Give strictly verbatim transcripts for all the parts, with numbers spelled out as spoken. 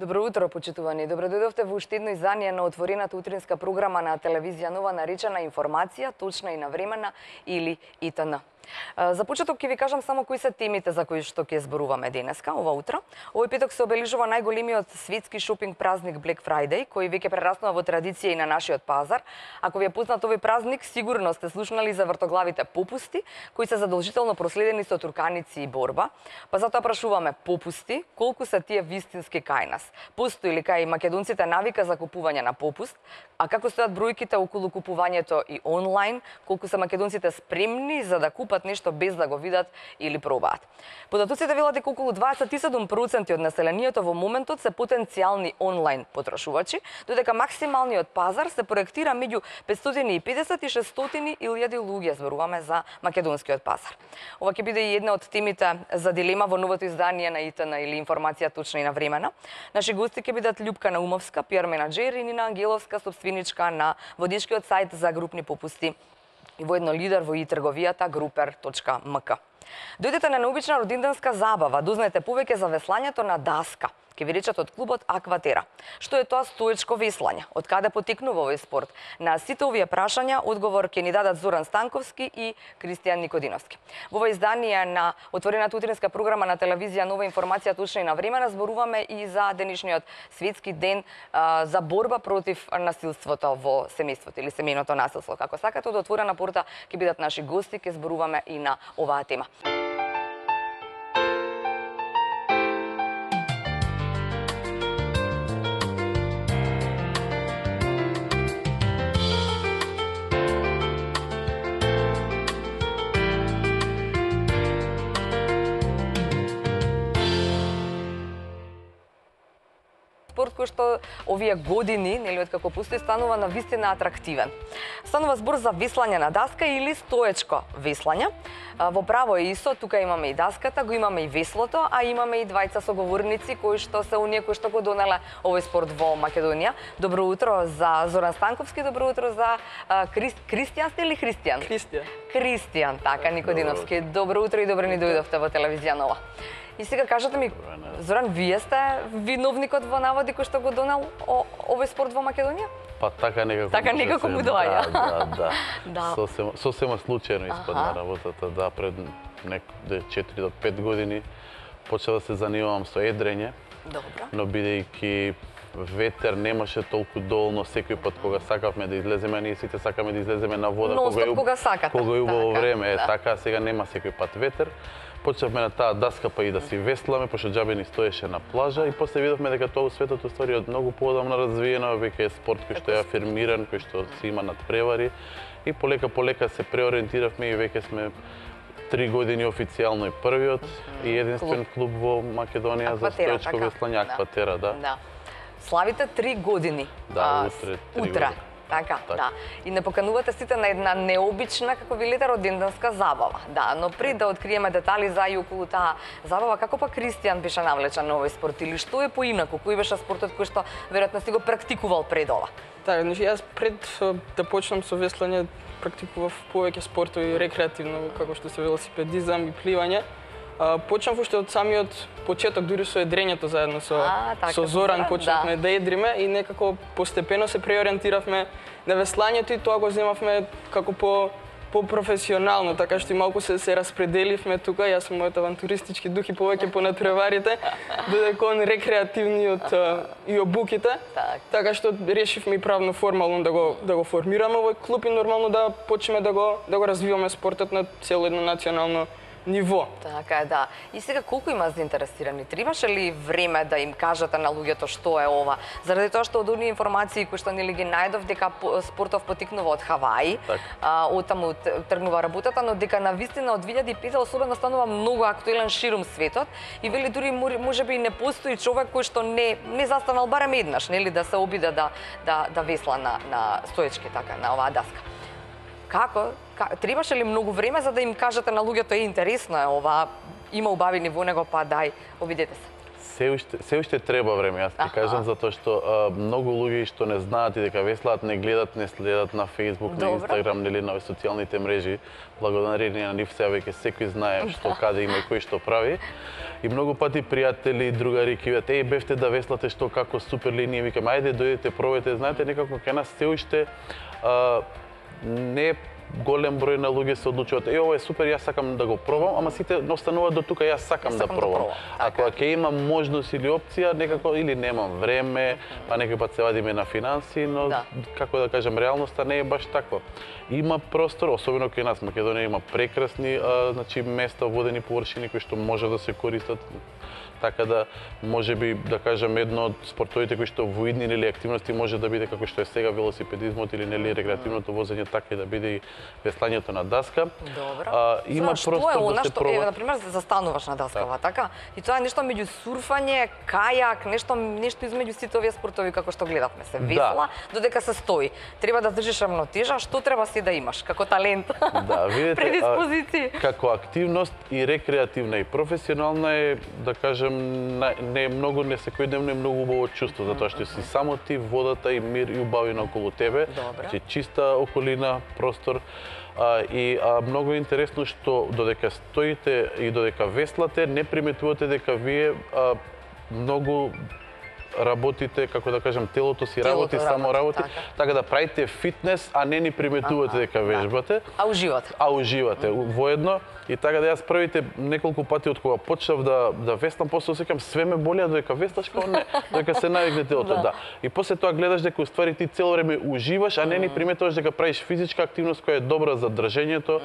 Добро утро, почитувани. Добро дојдовте во уште едно издание на отворената утринска програма на телевизија Нова, наречена Информација, точна и навремена или И Т Н. За почеток ќе ви кажам само кои се темите за кои што ќе зборуваме денеска, ова утро. Овој петок се обележува најголемиот светски шопинг празник Black Friday, кој веќе прераснува во традиција и на нашиот пазар. Ако ви е познат овој празник, сигурно сте слушнали за вртоглавите попусти, кои се задолжително проследени со турканици и борба. Па затоа прашуваме: попусти, колку се тие вистински кај нас? Постои ли кај македонците навика за купување на попуст? А како стојат бројките околу купувањето и онлайн? Колку се македонците спремни за да купат нешто без да го видат или пробаат? Податоците велат дека околу дваесет и седум проценти од населението во моментот се потенцијални онлайн потрошувачи, додека максималниот пазар се проектира меѓу петстотини и педесет и шестстотини илјади луѓе. Зборуваме за македонскиот пазар. Ова ќе биде и една од темите за дилема во новото издание на И Т Н или Информација точна и навремена. Наши гости ќе бидат Љупка Наумовска, пиар менаџер, и Нина Ангеловска, собственичка на водичкиот сајт за групни попусти и воедно лидер во и-трговијата групер точка ем ка. Дојдете на необична роденденска забава, дознаете повеќе за веслањето на даска. Ке ви речат од клубот Акватера. Што е тоа стоечко веслање? Од каде потекнува овој спорт? На сите овие прашања одговор ќе ни дадат Зоран Станковски и Кристијан Никодиновски. Во ова издание на отворената утринска програма на телевизија Нова, Информација точна и навремена, зборуваме и за денешниот светски ден а, за борба против насилството во семејството или семејното насилство. Како сакате, од отворена порта ќе бидат наши гости, ќе зборуваме и на оваа тема. Спорт кој што овие години, нели, од како постои, станува на вистина атрактивен. Станува збор за веслање на даска или стоечко веслање. Во право е исто, тука имаме и даската, го имаме и веслото, а имаме и двајца соговорници кои што се оние кои што го донеле овој спорт во Македонија. Добро утро за Зоран Станковски, добро утро за Крис... Кристијан сте или Христијан? Кристијан. Кристијан, така, Никодиновски. Добро утро и добро ни дојдовте во телевизија Нова. И сега кажете ми, Зоран, вие сте виновникот во наводи кој што го донел овој спорт во Македонија? Па така некако. Така некако му доаѓа. Да, да, да. Сосема, сосема случајно испадна работата, да, пред нек четири до пет години почела да се занимавам со едрење. Добро. Но бидејќи ветер немаше толку доволно секој пат кога сакавме да излеземе, ние сите сакаме да излеземе на вода кога е кога сакате. Кога е убаво така, време, е да. така, сега нема секој пат ветер. Почнавме на таа даска па и да си весламе, пошто џабе ни стоеше на плажа, и после видовме дека тоа светот уствари од многу поодамна развиено, веќе е спорт кој што е афирмиран, кој што се има надпревари, и полека полека се преориентиравме и веќе сме три години официјално и првиот и единствен клуб, клуб во Македонија за стоечко веслање, Акватера, да. да. Славите три години. Да, утре три утре. години. Така, так. да. И не поканувате сите на една необична, како велите, роденденска забава. Да, но пред да откриеме детали за и околу таа забава, како па Кристијан беше навлечен на овој спорт, или што е поинаку, кој беше спортот кој што веројатно си го практикувал пред ова? Така, значи јас пред да почнам со веслање практикував повеќе спортови рекреативно, како што се велосипедизам и пливање. Почнав уште од самиот почеток, дури со едрењето заедно со, а, така, со Зоран почнавме да. да едриме и некако постепено се преориентиравме на веслањето и тоа го земавме како по по-професионално, така што и малку се, се распределивме тука. Јас сум мојот авантуристички дух и повеќе по надпреварите, додека он рекреативниот и обуките. Так. Така што решивме и правно формално да го да го формираме овој клуб и нормално да почнеме да го да го развиваме спортот на цело едно национално ниво. Така е, да. И сега колку има заинтересирани? Требаше ли време да им кажете на луѓето што е ова? Заради тоа што од оние информации кои што нели ги најдов дека спортов потекнува од Хаваи, а, оттаму тргнува работата, но дека на вистина од две илјади и пета особено станува многу актуелен ширум светот и вели дури можеби не постои човек кој што не не застанал барем еднаш, нели, да се обиде да да да весла на на стоечки така на оваа даска. Како? Требаше ли многу време за да им кажете на луѓето е интересно е ова, има убави ниво него, па дај, обидете се? Се уште, се уште треба време, јас ти Аха. кажам, затоа што а, многу луѓе што не знаат и дека веслаат, не гледат, не следат на Facebook, Добро. на Instagram, нели на социјалните мрежи. Благодарение на нив сега веќе секој знае што каде има и кој што прави. И многу пати пријатели, другари ќе видат, еј, бевте да веслате, што како супер линија, викам, ајде дојдете, пробајте, знаете, некако кај нас се уште а, не голем број на луѓе се одлучуваат, е, ова е супер, јас сакам да го пробам, ама сите остануваат до тука, јас сакам, Јас да сакам да пробам. пробам, А така. кога ќе имам можност или опција, некако или немам време, па некој пат се вадиме на финанси, но Да. како да кажам, реалноста не е баш таква. Има простор, особено кај нас Македонија има прекрасни а, значи места, водени површини кои што може да се користат. Така да, може би, да кажам, едно од спортовите кои што во идни или активности може да биде како што е сега велосипедизмот или нели рекреативното возење, така и да биде и веслањето на даска. Добро. А, има Знаеш, простор што е да она се што, проба. еве, на пример, се застануваш на даскава, така? И тоа е нешто меѓу сурфање, кајак, нешто нешто измеѓу сите овие спортови како што гледавме. Се весла, додека се стои. Треба да држиш рамнотежа, што треба си да имаш како талент? Да, видите, предиспозиции. а, како активност и рекреативна и професионална е, да кажем, на- не е многу, не секојдневно е многу убаво чувство, затоа што си само ти, водата и мир и убавина околу тебе. Добро. Значи, чиста околина, простор. А, и а, многу е интересно што додека стоите и додека веслате, не приметувате дека вие а, многу работите, како да кажем, телото си Телото работи, само работи, работи, така. така да правите фитнес, а не ни приметувате Аха, дека да. вежбате. А уживате. А уживате воедно. И така да јас првите неколку пати од кога почнав да да веслам, после осеќам све ме боли, а додека веслаш као не, додека се навикне телото, Да. да. И после тоа гледаш дека уствари ти цело време уживаш, а не ни приметуваш дека правиш физичка активност која е добра за држењето.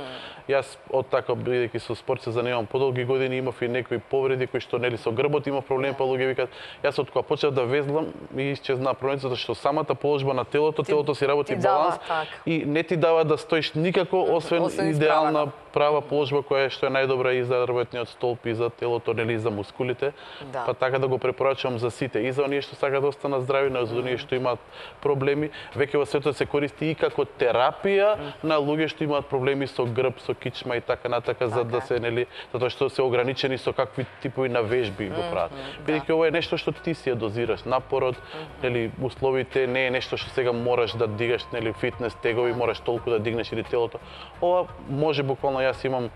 Јас од така бидејќи со спорт се занимавам подолги години, имав и некои повреди кои што нели со грбот имав проблеми, па луѓе викаат, јас од кога почнав да везлам ми исчезна проблемот затоа што самата положба на телото, телото си работи ти дава, баланс така. и не ти дава да стоиш никако освен, Освен идеална исправено. права положба која е што е најдобра и за работниот столб и за телото, нели и за мускулите. Да. Па така да го препорачувам за сите, и за оние што сакаат да останат здрави, но и за оние што имаат проблеми. Веќе во светот се користи и како терапија на луѓе што имаат проблеми со грб, со кичма и така натака, за да Така. се нели затоа што се ограничени со какви типови на вежби го прават. Бидејќи ова е нешто што ти си ја дозираш, напорот, нели условите не е нешто што сега мораш да дигаш, нели фитнес тегови, мораш толку да дигнеш или телото. Ова може буквално, јас имам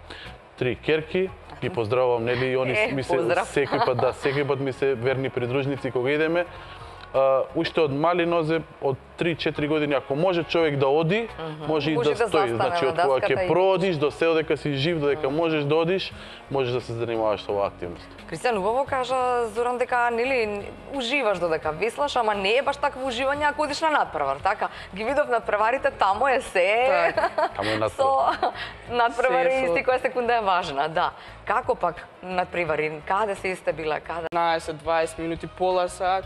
три керки, ги поздравувам, нели и они Е, ми се поздрав. секој пат да секој пат ми се верни придружници кога идеме. Uh, уште од мали нозе, од три-четири години, ако може човек да оди, може и Може да да стои. застане Значи, на од кога даската ќе и- проодиш до се додека си жив, додека можеш да одиш, можеш да се занимаваш со оваа активност. Кристијан убаво кажа Зоран дека нели уживаш додека веслаш, ама не е баш такво уживање ако одиш на надпревар, така? Ги видов надпреварите, таму е се. Таму е надпревар. Со надпревари Се со- исти која секунда е важна, да. Како пак надпревари? Каде се сте била? Каде? петнаесет-дваесет минути, пола сат.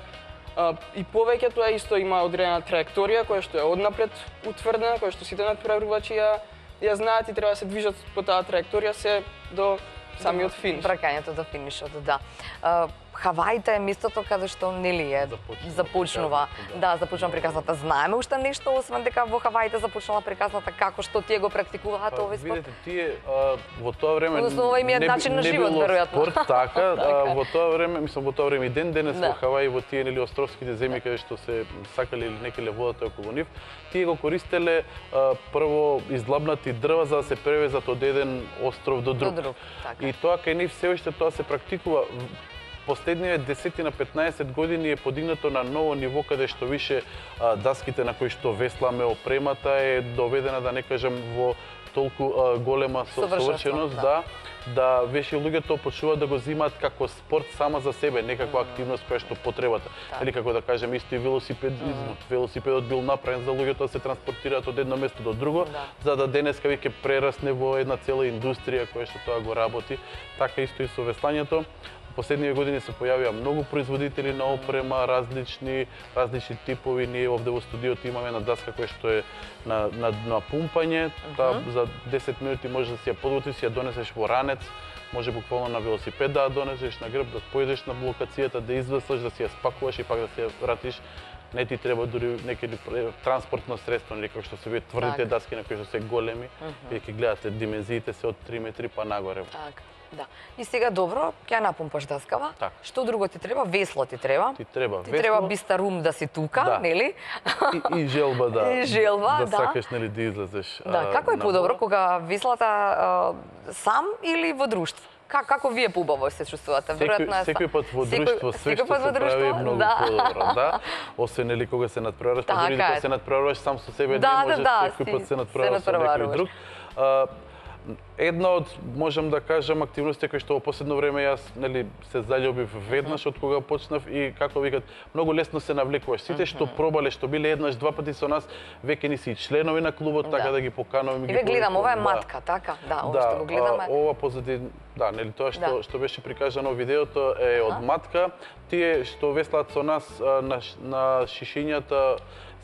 А, и повеќе тоа исто има одредена траекторија која што е однапред утврдена, која што сите надпреварувачи ја ја знаат и треба да се движат по таа траекторија се до самиот финиш. Бракањето до финишот, да. А, Хаваите е местото каде што нели е Започнува започнува, приказната, да, започнува приказната. Знаеме уште нешто освен дека во Хаваите започнала приказната, како што тие го практикуваат Па, овој спорт? видите, тие а, во тоа време Односно, ова им е не би- начин на не живот, било веројатно. спорт, така, Така. а, во тоа време, мислам во тоа време и ден денес Да. во Хаваи, во тие нели островските земји каде што се сакале или некеле водата околу нив, тие го користеле а, прво издлабнати дрва за да се превезат од еден остров до друг. До друг, така. И тоа кај нив се уште тоа се практикува. Последниве десет на петнаесет години е подигнато на ново ниво каде што више а, даските на кои што весламе, опремата е доведена, да не кажам, во толку а, голема со- Совршенство, совршеност, да. да, да веше луѓето почнуваат да го земаат како спорт сама за себе, не како активност која што потребата. Така. Или како да кажем исто и велосипедизмот. Велосипедот бил направен за луѓето да се транспортираат од едно место до друго, Да. за да денеска веќе прерасне во една цела индустрија која што тоа го работи. Така исто и со веслањето. Последниве години се појавија многу производители на опрема, различни, различни типови. Ние овде во студиото имаме една даска која што е на, на, на пумпање. Таа за десет минути можеш да си ја подготвиш, си ја донесеш во ранец, може буквално на велосипед да ја донесеш на грб, да појдеш на локацијата, да извеслаш, да си ја спакуваш и пак да си ја вратиш не ти треба дури некој транспортно средство, или како што се вие тврдите Така. даски на кои што се големи, вие ќе гледате димензиите се од три метри па нагоре. Така. Да. И сега добро, ќе ја напумпаш даскава. Така. Што друго ти треба? Весло ти треба. Ти треба Ти весло. треба бистарум да си тука, Да. нели? И, и желба да. И желба, да. да. сакаш нели да излезеш. Да, а, како е на подобро вода. кога веслата а, сам или во друштво? Как, како вие поубаво се чувствувате? Секој, Веројатно е секој пат во секој- друштво, све секој што пат во се прави е друштво? многу Да. подобро, да. Освен нели кога се надпреваруваш, па Така дури кога е. се надпреваруваш сам со себе, Да, не да, можеш да, секој си пат се се надпреваруваш со некој надпреваруваш. друг. А, една од, можам да кажам, активности кои што во последно време јас нели се заљубив веднаш од кога почнав и како викат, многу лесно се навлекуваш. Сите што пробале, што биле еднаш, два пати со нас, веќе ни си членови на клубот, така Да. да ги покануваме. И ги ве гледам, ова е повикувам, да. матка, така? Да, ова Да, што го гледаме. а, ова позади, да, нели тоа што Да. што беше прикажано во видеото е од матка. Тие што веслаат со нас а, на ш- на шишињата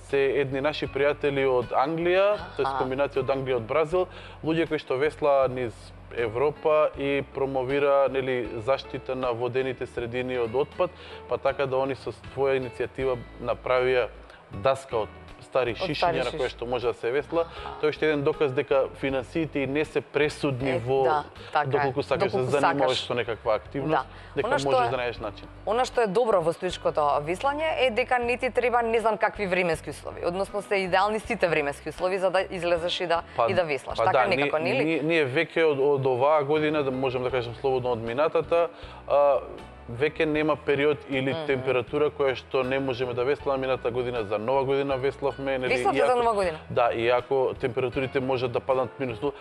се едни наши пријатели од Англија, тоест комбинација од Англија и од Бразил, луѓе кои што веслаа низ Европа и промовира нели заштита на водените средини од отпад, па така да они со своја иницијатива направија даска од стари стари шишиња на шиш- кои што може да се весла. Тоа е уште еден доказ дека финансиите и не се пресудни Е, во да, така е. доколку сакаш да Доколку занимаваш сакаш. со некаква активност, Да. дека Она што можеш е- да најдеш начин. Она што е добро во стоичкото веслање е дека не ти треба не знам какви временски услови. Односно се идеални сите временски услови за да излезеш и да и да веслаш. па Така да, некако, ние, нели? ние, ние веќе од, од оваа година, да можам да кажам слободно од минатата, а, веќе нема период или температура која што не можеме да весламе. Мината година за нова година веславме, нели? Веславте Иако- за нова година? Да, иако температурите можат да паднат минус нула,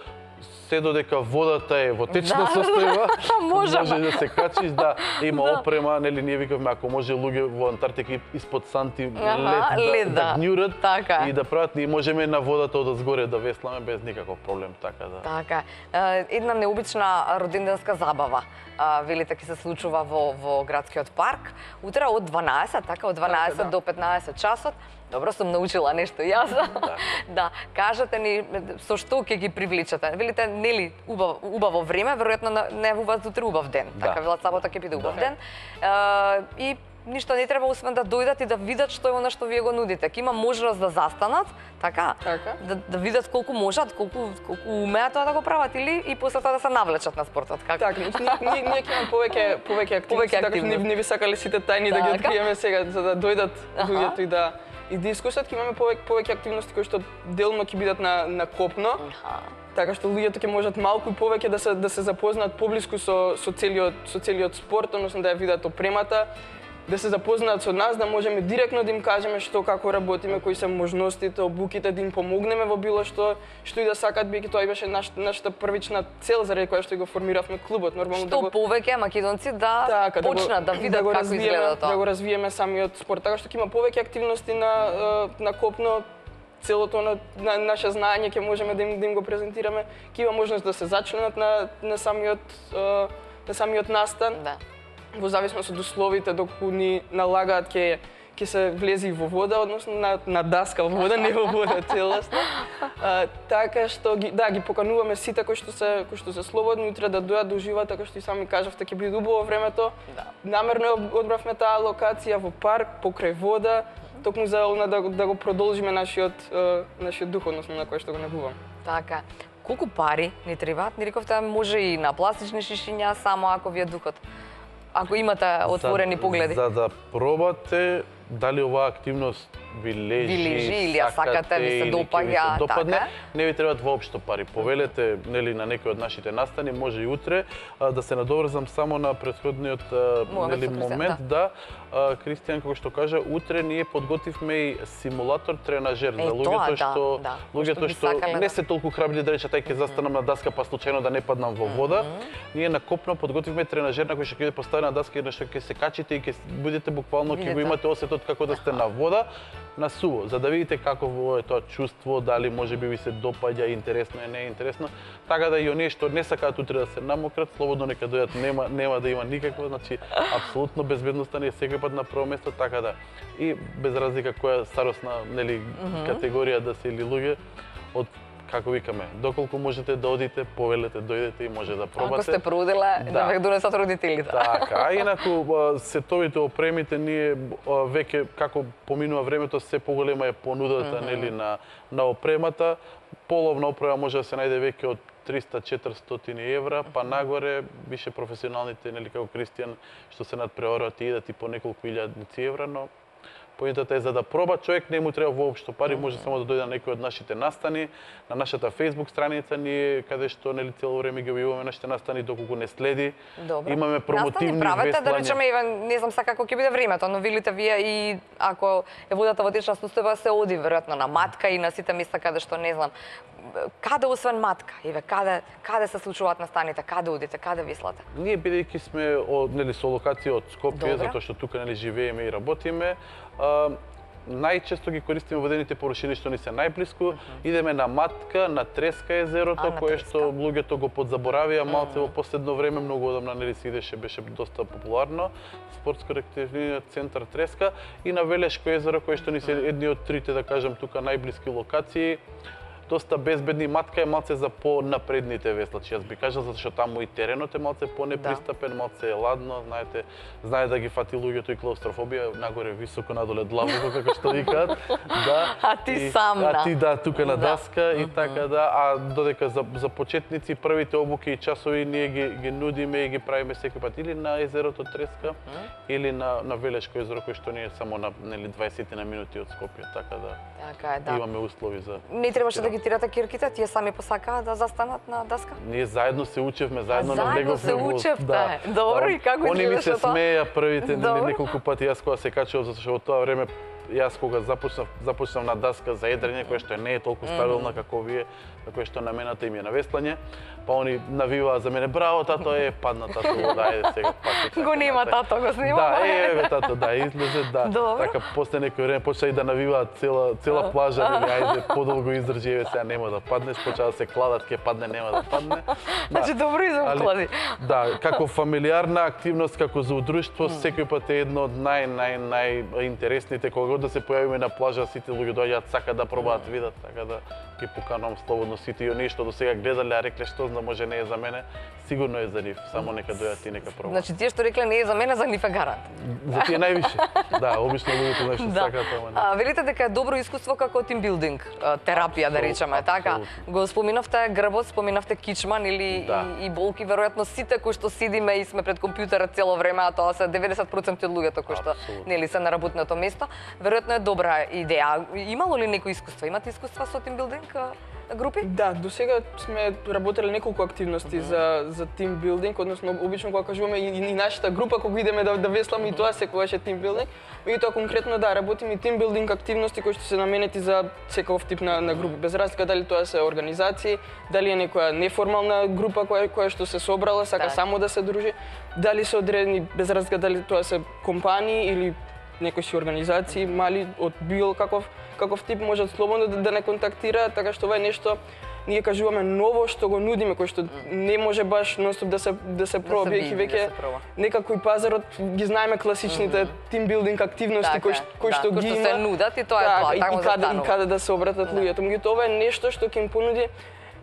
се додека водата е во течна Да, состојба, можеме. може да се качиш, да, има Да. опрема, нели ние викавме ако може луѓе во Антарктика испод санти Аха, лед, лед, да, да. да гњурат Така е. и да прават, ние можеме на водата од згоре да весламе без никаков проблем, така да. Така е. Е, една необична роденденска забава. А, велите ќе се случува во во градскиот парк. Утре од дванаесет, така од дванаесет Така, да. до петнаесет часот. Добро сум научила нешто јас. Да. да, кажете ни со што ќе ги привличате. Велите нели убаво, убаво време, веројатно најавуваат утре убав ден. Да. Така велат сабота ќе биде убав Да. ден. Е, и ништо не треба освен да дојдат и да видат што е она што вие го нудите. Ќе има можност да застанат, така? Така. Да, да видат колку можат, колку колку умеат тоа да го прават или и после тоа да се навлечат на спортот. Како? Така, ние, ние ќе имаме повеќе повеќе активности, Повеќе така што не, активности. не би сакале сите тајни да ги Така. откриеме сега за да дојдат Аха. луѓето и да и да искусат. Ќе имаме повеќе повеќе активности кои што делно ќе бидат на на копно. Аха. Така што луѓето ќе можат малку и повеќе да се да се запознаат поблиску со со целиот со целиот спорт, односно да ја видат опремата, да се запознаат со нас, да можеме директно да им кажеме што како работиме, кои се можностите, обуките, да им помогнеме во било што што и да сакат, бидејќи тоа и беше наш, нашата првична цел заради која што го формиравме клубот. Нормално Што да го повеќе македонци да така, почнат да, го, видат да го како развиеме, изгледа тоа. да го развиеме самиот спорт, така што ќе има повеќе активности на е, на копно. Целото на, на наше знаење ќе можеме да им, да им го презентираме. Ќе има можност да се зачленат на на самиот е, на самиот настан. Да. Во зависност од условите доколку ни налагаат ќе ќе се влези во вода, односно на, на даска во вода, не во вода целосно. А, така што ги да ги покануваме сите кои што се кои што се слободни утре да дојдат да уживаат, така што и сами кажавте ќе биде убаво времето. Да. Намерно ја одбравме таа локација во парк покрај вода, токму за она да, го- да го продолжиме нашиот е, нашиот дух, односно на кој што го негувам. Така. Колку пари ни требаат? Ни рековте може и на пластични шишиња, само ако ви е духот. Ако имате отворени за, погледи. За да пробате дали оваа активност ви лежи, Ви лежи или ја сакате, ви се или ќе ви допаѓа, се допадне, така? не ви требаат воопшто пари. Повелете нели на некој од нашите настани, може и утре, а, да се надоврзам само на претходниот а, Момент нели со Кристијан, момент, да. А, Кристијан како што кажа, утре ние подготвивме и симулатор тренажер Е, за луѓето тоа, да, што да. луѓето Што би што сакале не да- се толку храбри да речат ај ќе застанам на даска па случајно да не паднам во вода. Ние на копно подготвивме тренажер на кој што ќе биде поставена даска и на што ќе се качите и ќе будете буквално ќе го Видете. имате осетот како да сте на вода, на суво, за да видите какво е тоа чувство, дали може би ви се допаѓа, интересно е, не е интересно. Така да и оние што не сакаат утре да се намократ, слободно нека дојдат, нема нема да има никакво, значи апсолутно безбедноста не е секој пат на прво место, така да. И без разлика која старосна, нели, категорија да се или луѓе, од како викаме, доколку можете да одите, повелете, дојдете и може да пробате. Ако сте проудила, да, да ве донесат родителите. Така, а инаку сетовите опремите ние веќе како поминува времето се поголема е понудата, mm -hmm. нели, на на опремата. Половна опрема може да се најде веќе од триста до четиристотини евра, па нагоре више професионалните, нели, како Кристијан, што се надпреваруваат и идат и по неколку илјадници евра, но поинтата е за да проба човек не му треба воопшто пари, може само да дојде на некој од нашите настани, на нашата Facebook страница ние каде што, нели, цело време ги објавуваме нашите настани, доколку не следи. Добро. Имаме промотивни настани правете, веслања. да речеме, Иван, не знам сега како ќе биде времето, но велите вие и ако е водата во течна состојба се оди веројатно на матка и на сите места каде што не знам. Каде освен матка? Еве, каде каде се случуваат настаните? Каде одите? Каде веслате? Ние бидејќи сме од, нели, со локација од Скопје, Добре. затоа што тука, нели, живееме и работиме, а, најчесто ги користиме водените површини што ни се најблиску. Uh -huh. Идеме на Матка, на Треска езерото, а, кое Треска. што луѓето го подзаборавија малце во последно време, многу одамна, нели, се идеше, беше доста популарно. Спортско-рекреативниот центар Треска и на Велешко езеро, кое што ни се едни од трите, да кажам, тука најблиски локации. Доста безбедни. Матка е малце за понапредните веслачи. Јас би кажал, затоа што таму и теренот е малце понепристапен, да. Малце е ладно, знаете, знае да ги фати луѓето и клаустрофобија, нагоре високо, надоле длабоко, како што викаат. Да. А ти и, сам, А ти да, тука на да. даска и така да. А додека за, за почетници првите обуки и часови ние ги, ги нудиме и ги правиме секој пат или на езерото Треска, mm -hmm. или на, на Велешко езеро, кој што ние е само на, нели, дваесет на минути од Скопје, така да. Така е, да. Имаме услови за. Не требаше да ги тирате кирките, тие сами посакаа да застанат на даска? Ние заедно се учевме, заедно А, на него заедно се учевте? Добро, и како Они ми се изгледаше тоа? смеја првите Добро. неколку пати, јас кога се качував, затоа што во тоа време јас кога започнав, започнав на даска за едрење, која што не е толку стабилна mm -hmm. како вие, која што намената им е на веслање, па они навиваа за мене, браво тато, е, падна тато, да, ајде сега пак. Го нема тато, го снима. Да, е, еве тато, да, излезе, да. Добро. Така после некој време почна и да навиваат цела цела плажа, нели, ајде подолго издржи, еве сега нема да паднеш, почна да се кладат, ќе падне, нема да падне. Значи добро изоклади. Да, како фамилиарна активност, како за удружство, секој пат е едно од нај нај нај интересните, кога да се појавиме на плажа, сите луѓе доаѓаат, сакаат да пробаат, видат, така да ги поканувам слободно сите и оние што до сега гледале, а рекле што знам, може не е за мене, сигурно е за нив, само нека дојдат и нека пробаат. Значи тие што рекле не е за мене, за нив е гарант. За тие највише. Да, обично луѓето знаеш што Да. сакаат, ама не. А, велите дека е добро искуство како тимбилдинг, терапија да речеме, Апсолутно. така. Го споминавте грбот, споминавте кичман или Да. и, и болки, веројатно сите кои што сидиме и сме пред компјутерот цело време, а тоа се деветдесет проценти од луѓето кои што Апсолутно. нели се на работното место, веројатно е добра идеја. Имало ли некои искуство? Имате искуства со тимбилдинг групи? Да, до сега сме работеле неколку активности uh -huh. за за тимбилдинг, односно обично кога кажуваме и, и нашата група кога идеме да да весламе и тоа секогаш е тимбилдинг. И тоа конкретно да работиме и тимбилдинг активности кои што се наменети за секој тип на на групи, без разлика дали тоа се организации, дали е некоја неформална група која која што се собрала, сака Так. само да се дружи, дали се одредени без разлика дали тоа се компании или некои си организации мали од било каков каков тип можат слободно да, да не контактираат, така што ова е нешто ние кажуваме ново што го нудиме, кој што не може баш нонстоп да се да се проба, биде, бидејќи веќе да се проба. некако и пазарот ги знаеме класичните mm -hmm. тимбилдинг активности Така кои е, што кои да, што кои ги што има. се нудат и тоа е Така, тоа, и, таму и каде и застанува. каде да се обратат Да. луѓето. Меѓутоа ова е нешто што ќе им понуди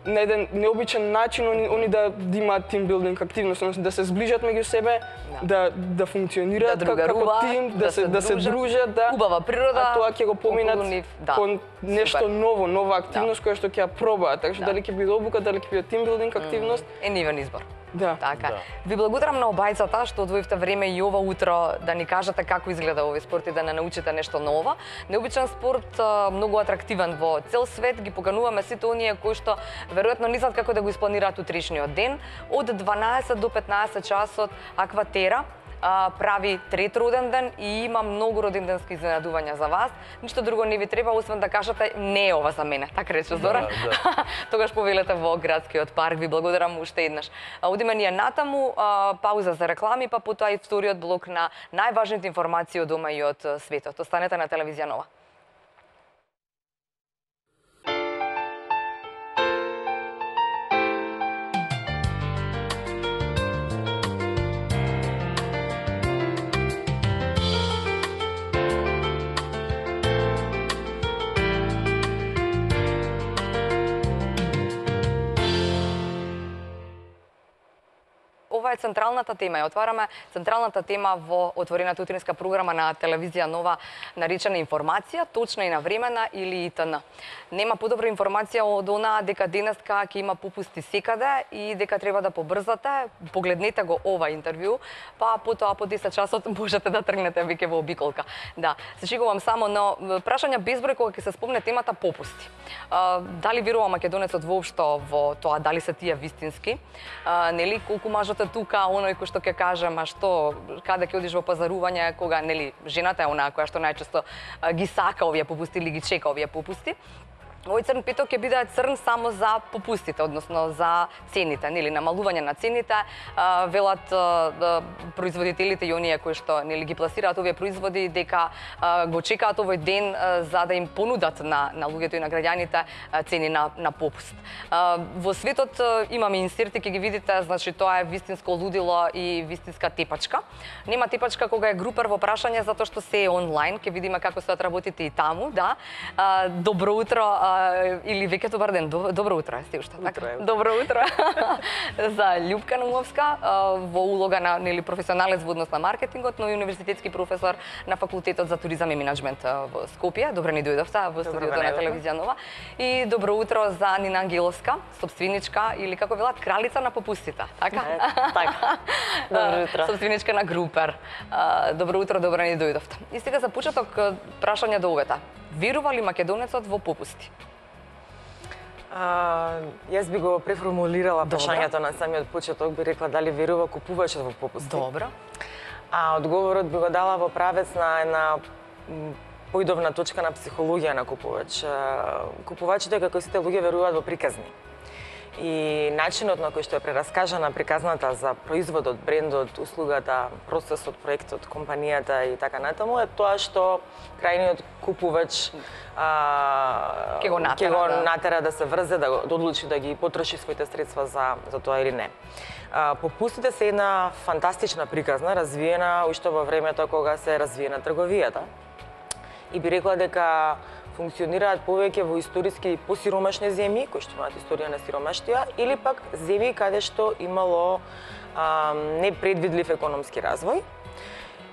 на еден необичен начин они, они да, да имаат тимбилдинг активност, односно да се зближат меѓу себе, да да функционираат Да како како другаруваат, тим, да, да се се да се дружат, дружат, да. убава природа, А тоа ќе го поминат околу нив, да. кон нешто Супер. ново, нова активност која што ќе ја пробаат. Така што Да. дали ќе биде обука, дали ќе биде тимбилдинг активност. Е нивен избор. Да. Така. Да. Ви благодарам на обајцата што одвоивте време и ова утро да ни кажете како изгледа овој спорт и да не научите нешто ново. Необичен спорт, а, многу атрактивен во цел свет, ги покануваме сите оние кои што веројатно не знаат како да го испланираат утрешниот ден. Од дванаесет до петнаесет часот Акватера а, прави трет роден ден и има многу роденденски изненадувања за вас. Ништо друго не ви треба, освен да кажете не е ова за мене, така рече Зоран. да. Тогаш повелете во градскиот парк. Ви благодарам уште еднаш. А, Одиме ние натаму, а, пауза за реклами, па потоа и вториот блок на најважните информации од дома и од светот. Останете на телевизија Нова. ова е централната тема. Ја отвараме централната тема во отворената утринска програма на телевизија Нова, наречена информација, точна и навремена или И Т Н. Нема подобра информација од онаа дека денеска ќе има попусти секаде и дека треба да побрзате. Погледнете го ова интервју, па потоа по десет часот можете да тргнете веќе во обиколка. Да, се шегувам само, но прашања безброј кога ќе се спомне темата попусти. А, дали верува македонецот воопшто во тоа, дали се тие вистински? А, нели колку мажот е тука, оној кој што ќе каже, ма што, каде ќе одиш во пазарување, кога нели жената е онаа која што најчесто а, ги сака овие попусти или ги чека овие попусти. Овој црн петок ќе биде црн само за попустите, односно за цените, нели намалување на цените, а, велат а, производителите и оние кои што нели ги пласираат овие производи дека а, го чекаат овој ден а, за да им понудат на на луѓето и на граѓаните а, цени на на попуст. А, во светот а, имаме инсерти, ќе ги видите, значи тоа е вистинско лудило и вистинска тепачка. Нема тепачка кога е групер во прашање затоа што се е онлайн, ќе видиме како се работите и таму, да. А, добро утро. Или веќе добар ден, добро утро, сте уште, така? Добро утро за Љупка Наумовска во улога на нели професионалец во однос на маркетингот, но и универзитетски професор на факултетот за туризам и менаџмент во Скопје. Добро ни дојдовте во студиото на телевизија Нова. И добро утро за Нина Ангеловска, собственичка или како велат кралица на попустите, така? Така. Добро утро. Собственичка на Групер. Добро утро, добро ни дојдовте. И сега за почеток прашање до овета. Верува ли македонецот во попусти? А, јас би го преформулирала прашањето на самиот почеток, би рекла дали верува купувачот во попусти. Добро. А одговорот би го дала во правец на една поидовна точка на психологија на купувач. Купувачите, како сите луѓе, веруваат во приказни. И начинот на кој што е прераскажана приказната за производот, брендот, услугата, процесот, проектот, компанијата и така натаму е тоа што крајниот купувач а, ќе го натера, ќе го да. натера да се врзе, да, да одлучи да ги потроши своите средства за, за тоа или не. А, попустите се една фантастична приказна, развиена уште во времето кога се развиена трговијата. И би рекла дека функционираат повеќе во историски посиромашни земји, кои што имаат историја на сиромаштија, или пак земји каде што имало а, непредвидлив економски развој,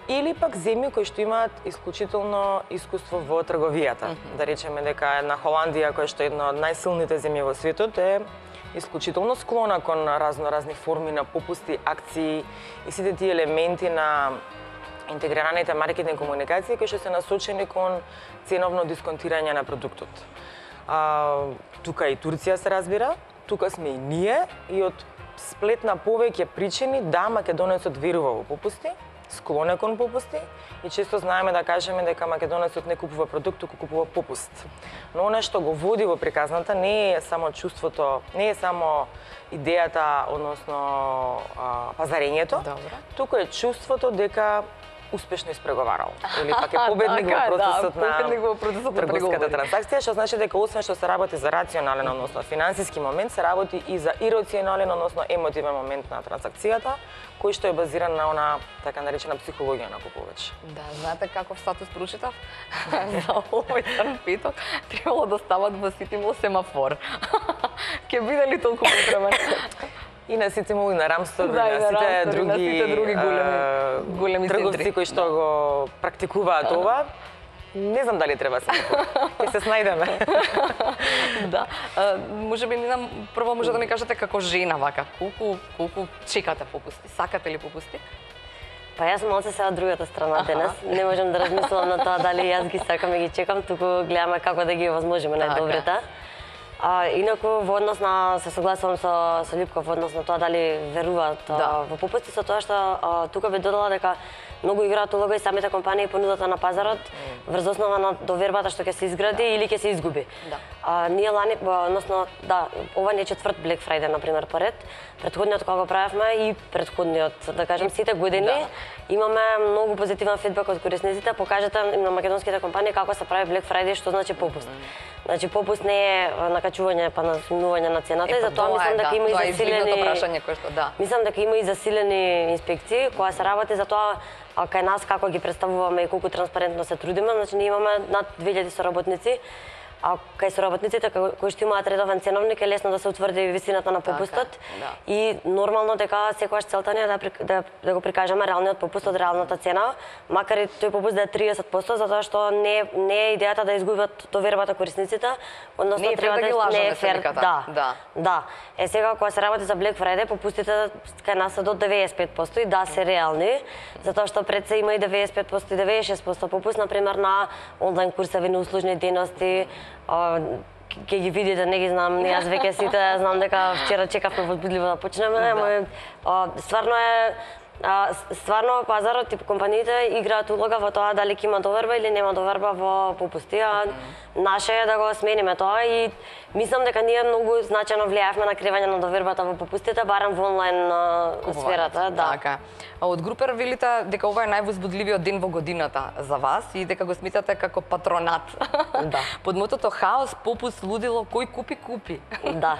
или пак земји кои што имаат исклучително искуство во трговијата. Mm-hmm. Да речеме дека една Холандија, која што е една од најсилните земји во светот, е исклучително склона кон разно-разни форми на попусти, акции и сите тие елементи на интегрираните маркетинг комуникации кои што се насочени кон ценовно дисконтирање на продуктот. А, тука и Турција се разбира, тука сме и ние и од сплет на повеќе причини да македонецот верува во попусти, склон е кон попусти и често знаеме да кажеме дека македонецот не купува продукт, туку купува попуст. Но она што го води во приказната не е само чувството, не е само идејата, односно а, пазарењето, Добро. туку е чувството дека успешно испреговарал или пак е победник така, во процесот да, на победник во процесот на трговската преговори. трансакција, што значи дека освен што се работи за рационален, односно финансиски момент, се работи и за ирационален, односно емотивен момент на трансакцијата, кој што е базиран на она така наречена психологија на купувач. Да, знаете каков статус прочитав? За овој црн петок требало да стават во Ситимол семафор. Ке биде ли толку потребен? И на Ситимол, и на Рамстор, Да, и на сите Рамстор, и други, на сите други големи, а, големи трговци центри. кои што го практикуваат ова. Не знам дали треба се ќе се снајдеме. Да. А, може би Нина, прво може да ми кажете како жена вака, колку колку чекате попусти? Сакате ли попусти? Па јас сум малце сега од другата страна денес. Не можам да размислам на тоа дали јас ги сакам и ги чекам, туку гледаме како да ги овозможиме најдобрите. А, инаку во однос на се согласувам со со Љупка во однос на тоа дали веруваат Да. во попусти, со тоа што а, тука би додала дека многу играат улога и самите компании понудата на пазарот mm. врз основа на довербата што ќе се изгради да. или ќе се изгуби. Да. А, ние лани, односно, да, ова не е четврт Black Friday, например, поред. Предходниот кога го правевме и предходниот, да кажем, сите години, да. имаме многу позитивен фидбек од корисниците, покажете на македонските компании како се прави Black Friday, што значи попуст. Mm. Значи, попуст не е накачување па насумнување на цената Е, и затоа мислам е, дека да, има и тоа е засилени прашање кое што да. Мислам дека има и засилени инспекции која се работи за тоа а кај нас како ги представуваме и колку транспарентно се трудиме, значи ние имаме над две илјади соработници а кај соработниците кои што имаат редовен ценовник е лесно да се утврди висината на попустот. Да. И нормално дека секогаш целта ни е да, да, да го прикажеме реалниот попуст од реалната цена, макар и тој попуст да е триесет проценти, затоа што не, не е идејата да изгубат довербата корисниците, односно не е треба да ги лажаме, не е фер. да. Да. Да. Е сега кога се работи за Black Friday, попустите кај нас се до деветдесет и пет проценти и да се реални, затоа што пред се има и деветдесет и пет проценти и деветдесет и шест проценти попуст, например на онлайн курсеви, на услужни дейности. Ке ги видите, не ги знам, јас веќе сите знам дека вчера чекавме возбудливо да почнеме, ама стварно е А, стварно пазарот и компаниите играат улога во тоа дали ќе има доверба или нема доверба во попусти, а наше е да го смениме тоа и мислам дека ние многу значајно влијавме на кривање на довербата во попустите, барем во онлайн сферата, да. Така. Од Групер велите дека ова е највозбудливиот ден во годината за вас и дека го смитате како патронат. Да. Под мотото хаос, попуст, лудило, кој купи купи. Да.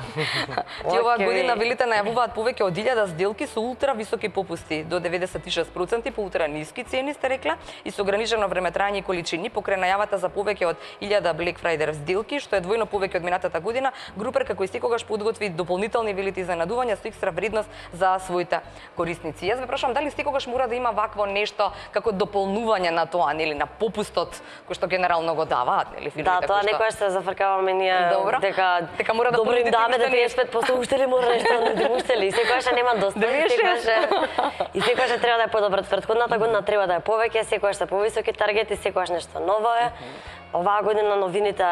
Ти оваа Океј. година велите најавуваат повеќе од илјада сделки со ултра високи попусти, до деветдесет и шест проценти по ултра ниски цени сте рекла и со ограничено време трајање и количини покрај најавата за повеќе од илјада Black Friday сделки, што е двојно повеќе од минатата година. Групер како и секогаш подготви дополнителни велите изненадувања со екстра вредност за своите корисници. Јас ве прашам дали секогаш мора да има вакво нешто како дополнување на тоа, нели, на попустот кој што генерално го даваат, нели, фирмите. Да, тоа кои што... некогаш се зафркаваме ние Добро. дека дека мора да добро им понудите даме да уште деветдесет и пет проценти уште ли мора нешто да не уште ли? Секогаш нема доста. деветдесет и шест. И секогаш треба да е подобро. Претходната година треба да е повеќе, секогаш се повисоки таргети, секогаш нешто ново е. Оваа година новините,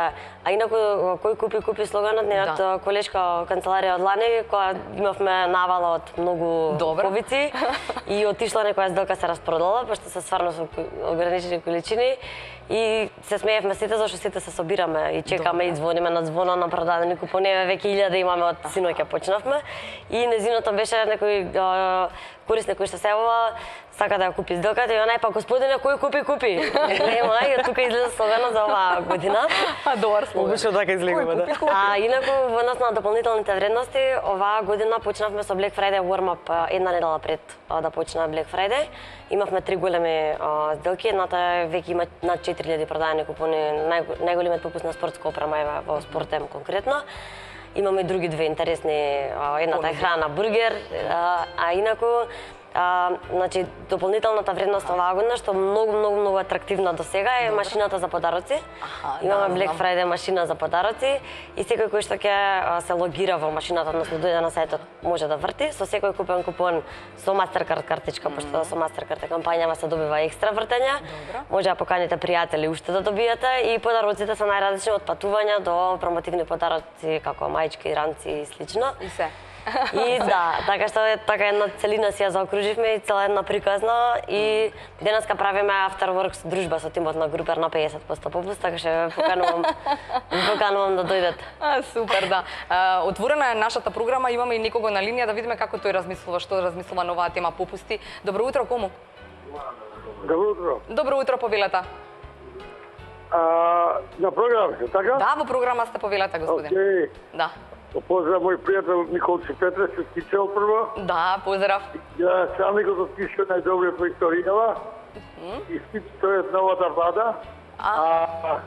а инаку кој купи купи слоганот нејот да. Колешка канцеларија од лани, која имавме навала од многу Добро. повици и отишла некоја сделка се распродала, пошто се стварно со ограничени количини и се смеевме сите зашто сите се собираме и чекаме Добре. И звониме на звона на продадени купони, веќе илјада имаме од синоќа почнавме и незиното беше некој корисник кој што се јавува сака да ја купи сделката и онај па господине кој купи купи. Нема и тука излезе слогано за оваа година. А добар слоган. Обично така излегува, да. А инаку во однос на дополнителните вредности, оваа година почнавме со Black Friday warm up една недела пред да почне Black Friday. Имавме три големи а, сделки, едната веќе има над четири илјади продадени купони, нај, најголемиот попуст на спортска опрема е во Спортем конкретно. Имаме и други две интересни, а, едната е храна, бургер, а, а инаку А, значи, дополнителната вредност оваа година, што многу, многу, многу атрактивна до сега е Добре. Машината за подароци. Аха, Имаме да, Black знам. Friday машина за подароци и секој кој што ќе се логира во машината, односно дојде на сајтот, може да врти. Со секој купен купон со Mastercard картичка, mm. пошто со Mastercard е кампањава се добива екстра вртења. Добре. Може да поканите пријатели уште да добиете и подароците се најразлични од патувања до промотивни подароци како маички, ранци и слично. И се. И да, така што е така една целина си ја заокруживме и цела една приказна и денеска правиме after work дружба со тимот на Групер на педесет проценти попуст, така што ве поканувам, поканувам да дојдете. А, супер, да. А, отворена е нашата програма, имаме и некого на линија да видиме како тој размислува, што размислува на оваа тема попусти. Добро утро, кому? Добро утро. Добро утро, повелата. А, на програма, така? Да, во програма сте повелата, господин. Океј. Да. Поздрав мој пријател Николче Петре, се скичал прво. Да, поздрав. Ја сам го заскичал најдобриот во историјава. И скичи тој е новата влада. А,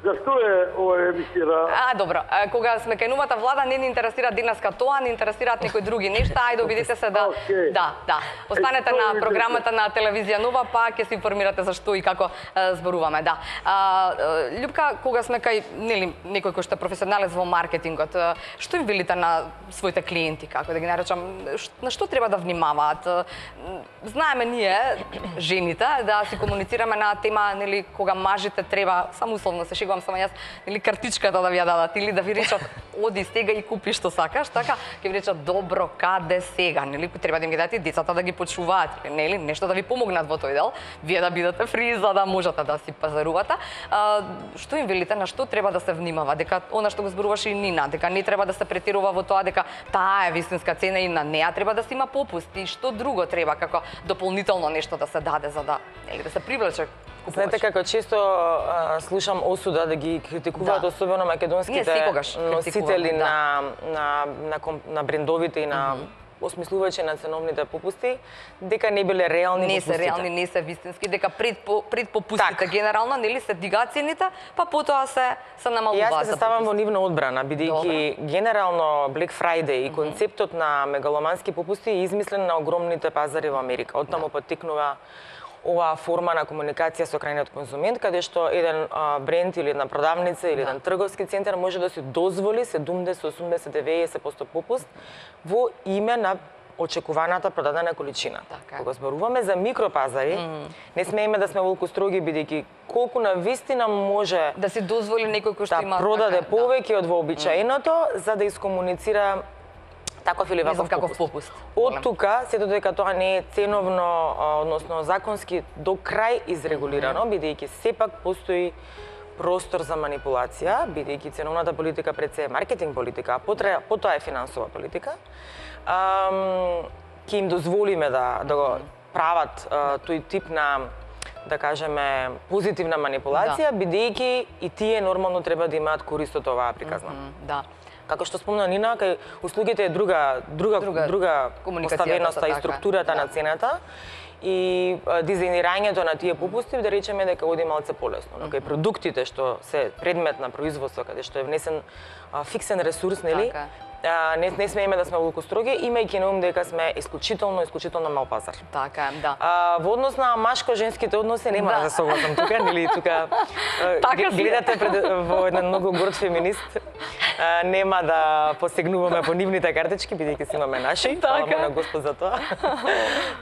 зашто е ова емисија? А, добро. А, кога сме кај новата влада, не ни интересира денеска тоа, не интересираат некои други нешта. Ајде, обидете се да... Okay. Да, да. Останете на програмата на телевизија Нова, па ќе се информирате за што и како е, зборуваме, да. А, Љупка, кога сме кај, нели, некој кој што е професионалец во маркетингот, е, што им велите на своите клиенти, како да ги наречам, на што треба да внимаваат? Знаеме ние, жените, да си комуницираме на тема, нели, кога мажите треба, само условно се шегувам само јас, или картичката да ви ја дадат, или да ви речат оди сега и купи што сакаш, така ќе ви речат добро каде сега, нели треба да им ги дадете децата да ги почуваат, нели нешто да ви помогнат во тој дел, вие да бидете фри за да можете да си пазарувате. А, што им велите, на што треба да се внимава, дека она што го зборуваше и Нина, дека не треба да се претирува во тоа дека таа е вистинска цена и на неа треба да се има попуст и што друго треба како дополнително нешто да се даде за да, нели да се привлече. Знаете како често а, слушам осуда да ги критикуваат, Да. особено македонските Ние секогаш носители критикуваме, да. на, на, на, ком- на брендовите и на осмислувачи на ценовните попусти, дека не биле реални Не попустите. се реални, не се вистински, дека пред по, пред попустите Така. генерално нели се дигаат цените, па потоа се се И намалуваат. јас ќе се ставам во нивна одбрана, бидејќи генерално Black Friday и концептот на мегаломански попусти е измислен на огромните пазари во Америка. Оттаму потекнува оваа форма на комуникација со крајниот конзумент, каде што еден а, бренд или една продавница или еден трговски центар може да си дозволи седумдесет, осумдесет, деветдесет проценти попуст во име на очекуваната продадена количина. Така. Кога зборуваме за микропазари, mm. не смееме да сме волку строги, бидејќи колку на вистина може Да си дозволи некој кој што да има продаде така, повеќе од вообичаеното, mm. за да искомуницира таков или Не знам ваков каков попуст. попуст. Од тука, сето дека тоа не е ценовно, а, односно законски до крај изрегулирано, бидејќи сепак постои простор за манипулација, бидејќи ценовната политика пред се е маркетинг политика, а потоа, потоа е финансова политика, ам, ќе им дозволиме да, да го прават а, тој тип на, да кажеме, позитивна манипулација, да. бидејќи и тие нормално треба да имаат корист од оваа приказна. М, Да. Како што спомна Нина, кај услугите е друга друга Друга друга, комуникацијата, поставеноста и така. структурата Да. на цената и а, дизајнирањето на тие попусти, да речеме дека оди малце полесно. Но кај продуктите што се предмет на производство, каде што е внесен а, фиксен ресурс, нели? Така. А, не, не смееме да сме волку строги, имајќи на ум дека сме исклучително, исклучително мал пазар. Така е, да. А, во однос на машко-женските односи нема Да. да се согласам тука, нели тука а, Така г- си е. гледате пред, во еден многу горд феминист. А, нема да посегнуваме по нивните картички, бидејќи си имаме наши. Фала му Така. на Господ за тоа.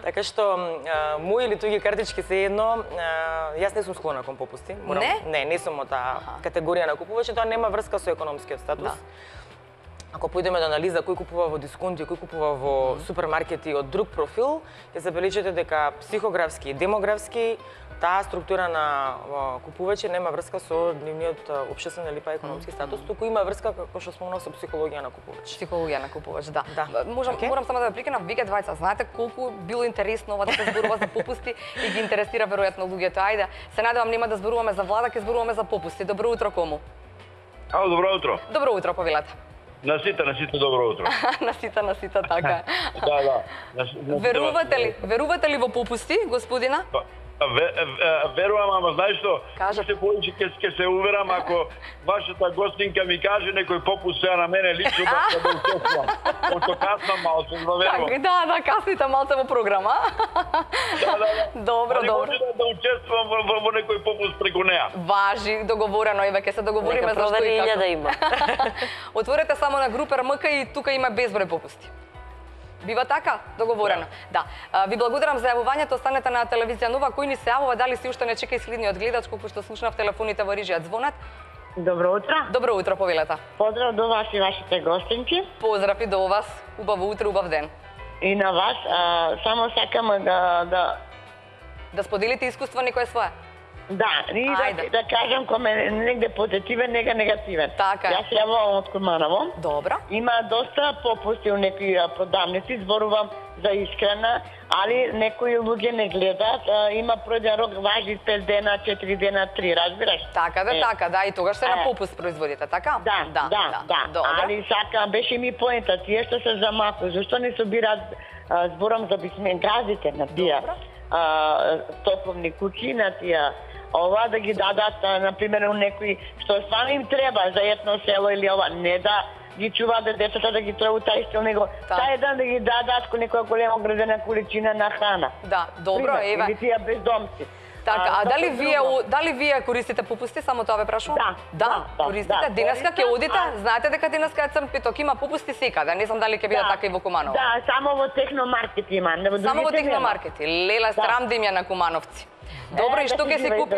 Така што а, мои или туги картички се едно, а, јас не сум склона кон попусти. Не? Не, не сум од таа категорија на купувачи, тоа нема врска со економскиот статус. Да. Ако појдеме до анализа кој купува во дисконти, кој купува во супермаркети од друг профил, ќе забележите дека психографски и демографски таа структура на а, купувачи нема врска со нивниот а, општествен или па економски статус, туку има врска, како што спомнав, со психологија на купувач. Психологија на купувач, да. Да. Можам, Океј. Морам само да ве прекинам, вие двајца, знаете колку било интересно ова да се зборува за попусти и ги интересира веројатно луѓето. Ајде, се надевам нема да зборуваме за влада, ќе зборуваме за попусти. Добро утро кому. Ало, добро утро. Добро утро, повелата. На сите, на сите добро утро. на сите, на сите, така е. Да, да. На, си- на сите Верувате ли, вас- верувате ли во попусти, господина? Па, ве- ве- Верувам, ама знаеш што? Кажете. Се повеќе ќе ќе се уверам ако вашата гостинка ми каже некој попуст сега на мене лично да да учествувам. Пошто каснам малку, да верувам. Така, да, да, касните малце во програма. Да, да, да. Добро, Али добро. може да, да учествувам во, во, во некој попуст преку неа. Важи, договорено, еве ќе се договориме Нека за што и провери како. да има. Отворете само на група РМК и тука има безброј попусти. Бива така? Договорено. Да. А, ви благодарам за јавувањето. Останете на телевизија Нова. Кој ни се јавува, дали си уште не чека исследниот гледач, колку што слушнав телефоните во режија звонат? Добро утро. Добро утро, повелата. Поздрав до вас и вашите гостинки. Поздрав и до вас. Убаво утро, убав ден. И на вас. А, само сакам да, да, Да споделите искуство некое свое. да, и Ајде. да, да кажам коме негде позитивен, нега негативен. Така е. Јас се јавувам од Курманово. Добро. Има доста попусти у некои а, продавници, зборувам за искрена, али некои луѓе не гледаат. А, има пројден рок, важи пет дена, четири дена, три, разбираш? Така да, Е. така да, и тогаш се на Е. попуст производите, така? Да, да, да, да. Добро. Али сака, беше ми поента, тие што се замаку, зашто не собираат, а, зборам за бисмен газите на тие а, топловни куќи, на тие ова да ги дадат, а, например, у некои што стварно им треба за едно село или ова, не да ги чуваат да децата да ги требу тај стил, него Да. тај ден да ги дадат ко некоја голема оградена количина на храна. Да, добро, Пример, еве. Или тие бездомци. Така, а што дали друго? вие о- дали вие користите попусти, само тоа ве прашувам? Да, да, да, да, користите. да, Денеска ќе користам, одите, а- знаете дека денеска е црн петок, има попусти секаде. Не знам дали ќе биде така и во Куманово. Да, само во техномаркет има, не во Само во другите нема. техномаркети. Леле, срам да им ја на Кумановци. Добро, Е, и што да ќе си си живеј купи?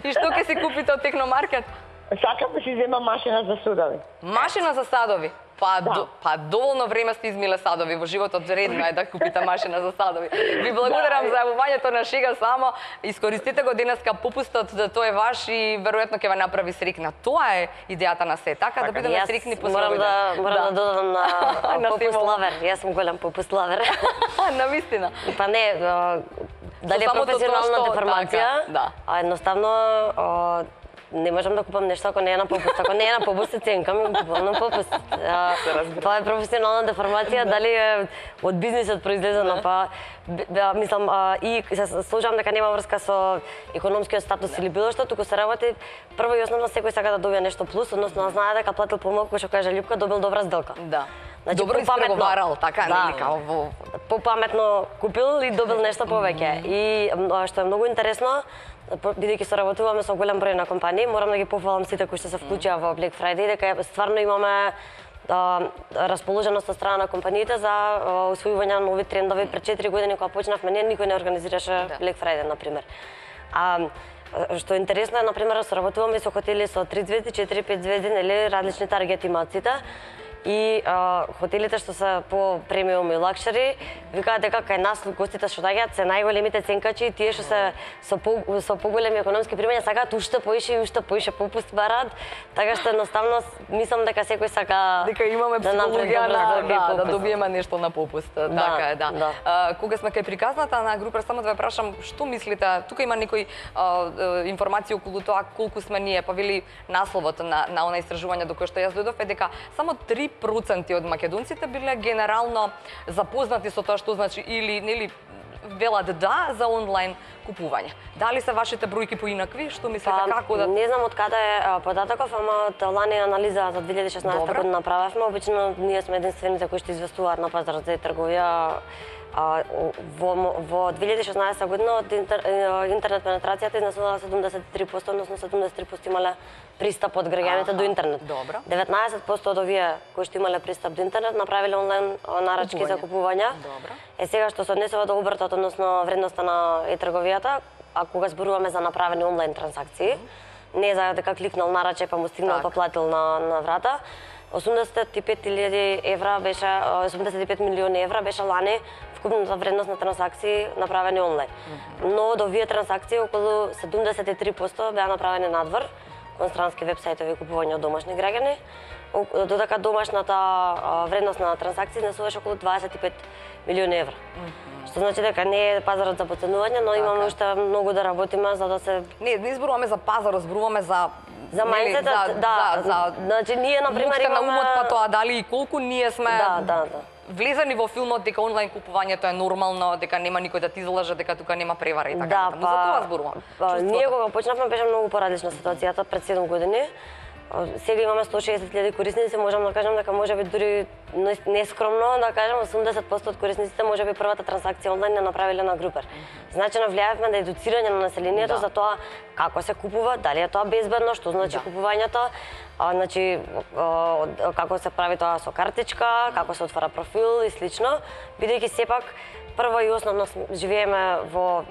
И што ќе си купите од техномаркет? Сакам да си зема машина за судови. Машина за садови. Па, Да. до, па доволно време сте измиле садови во животот, редно е да купите машина за садови. Ви благодарам Да, за јавувањето на шега, само искористите го денеска попустот, да тој е ваш и веројатно ќе ве направи срекна. Тоа е идејата на се, така, да бидеме Јас срекни по морам свој да ден. морам да додадам на На попуст Симона. лавер. Јас сум голем попуст лавер. На вистина. Па не, а, дали е самото тоа професионална што- деформација, така, да. а едноставно а, не можам да купам нешто ако не е на попуст. Ако не е на попуст, се ценкам и го купам на попуст. А, тоа е професионална деформација, дали е од бизнисот произлезено, па да, мислам а, и се сложам дека нема врска со економскиот статус или било што, туку се работи прво и основно секој сака да добие нешто плюс, односно знае дека платил помалку, што каже Љупка, добил добра сделка. Да. Значи, Добро испреговарал, така да, нели као во попаметно купил и добил нешто повеќе. И што е многу интересно, бидејќи соработуваме со голем број на компании, морам да ги пофалам сите кои што се вклучија во Black Friday, дека стварно имаме а, расположеност од страна на компаниите за а, усвојување на нови трендови. Пред четири години кога почнавме, ние никој не организираше да. Black Friday, например. А, што е интересно е, например, соработуваме со хотели со три звезди, четири, пет звезди, нели, различни таргет имаците. И а, хотелите што се по премиум и лакшери, викаат дека кај нас гостите што доаѓаат се најголемите ценкачи и тие што се со по, со поголеми економски примања сакаат уште поише и уште поише попуст бараат, така што едноставно мислам дека секој сака дека имаме да психологија на да, да добиеме нешто на попуст. Да, така е, да. да. А, кога сме кај приказната на Групер, само да ве прашам, што мислите? Тука има некои а, информации околу тоа колку сме ние, па вели насловот на на она истражување до кое што јас дојдов е дека само три проценти од македонците биле генерално запознати со тоа што значи или нели велат да за онлайн купување. Дали се вашите бројки поинакви? Што мислите па, како да не знам од каде е податоков, ама од лани анализа за две илјади и шеснаесета година направивме. Обично ние сме единствените кои што известуваат на пазарот за трговија. А, во, во две илјади и шеснаесета година од интер, интернет пенетрацијата изнесувала седумдесет и три проценти, односно седумдесет и три проценти имале пристап од граѓаните до интернет. Добро. деветнаесет проценти од овие кои што имале пристап до интернет направиле онлайн нарачки за купувања. Добро. Е сега што се однесува до обртот, односно вредноста на е-трговијата, а кога зборуваме за направени онлайн трансакции, не за дека кликнал нараче па му стигнал па платил на на врата. осумдесет и пет илјади евра беше, осумдесет и пет милиони евра беше лани вкупната вредност на трансакции направени онлайн. Mm -hmm. Но од овие трансакции околу седумдесет и три проценти беа направени надвор кон странски вебсајтови купување од домашни граѓани, додека домашната вредност на транзакции изнесуваше околу дваесет и пет милиони евра. Mm -hmm. Што значи дека не е пазарот за поценување, но имаме уште многу да работиме за да се Не, не зборуваме за пазар, зборуваме за за мајндсетот, да, за, за, значи ние на пример имаме имаме на умот па тоа дали и колку ние сме Да, да, да. влезани во филмот дека онлайн купувањето е нормално, дека нема никој да ти излаже, дека тука нема превара и така да, натаму. За тоа зборувам. Па, ние кога почнавме беше многу поразлична ситуацијата пред седум години. Сега имаме сто и шесет илјади корисници, можам да кажам дека можеби дури нескромно да кажам осумдесет проценти од корисниците можеби првата трансакција онлайн не направиле на Групер. Значи навлијавме на едуцирање на населението да. за тоа како се купува, дали е тоа безбедно, што значи да. купувањето, а, значи а, како се прави тоа со картичка, како се отвара профил и слично, бидејќи сепак прво и основно живееме во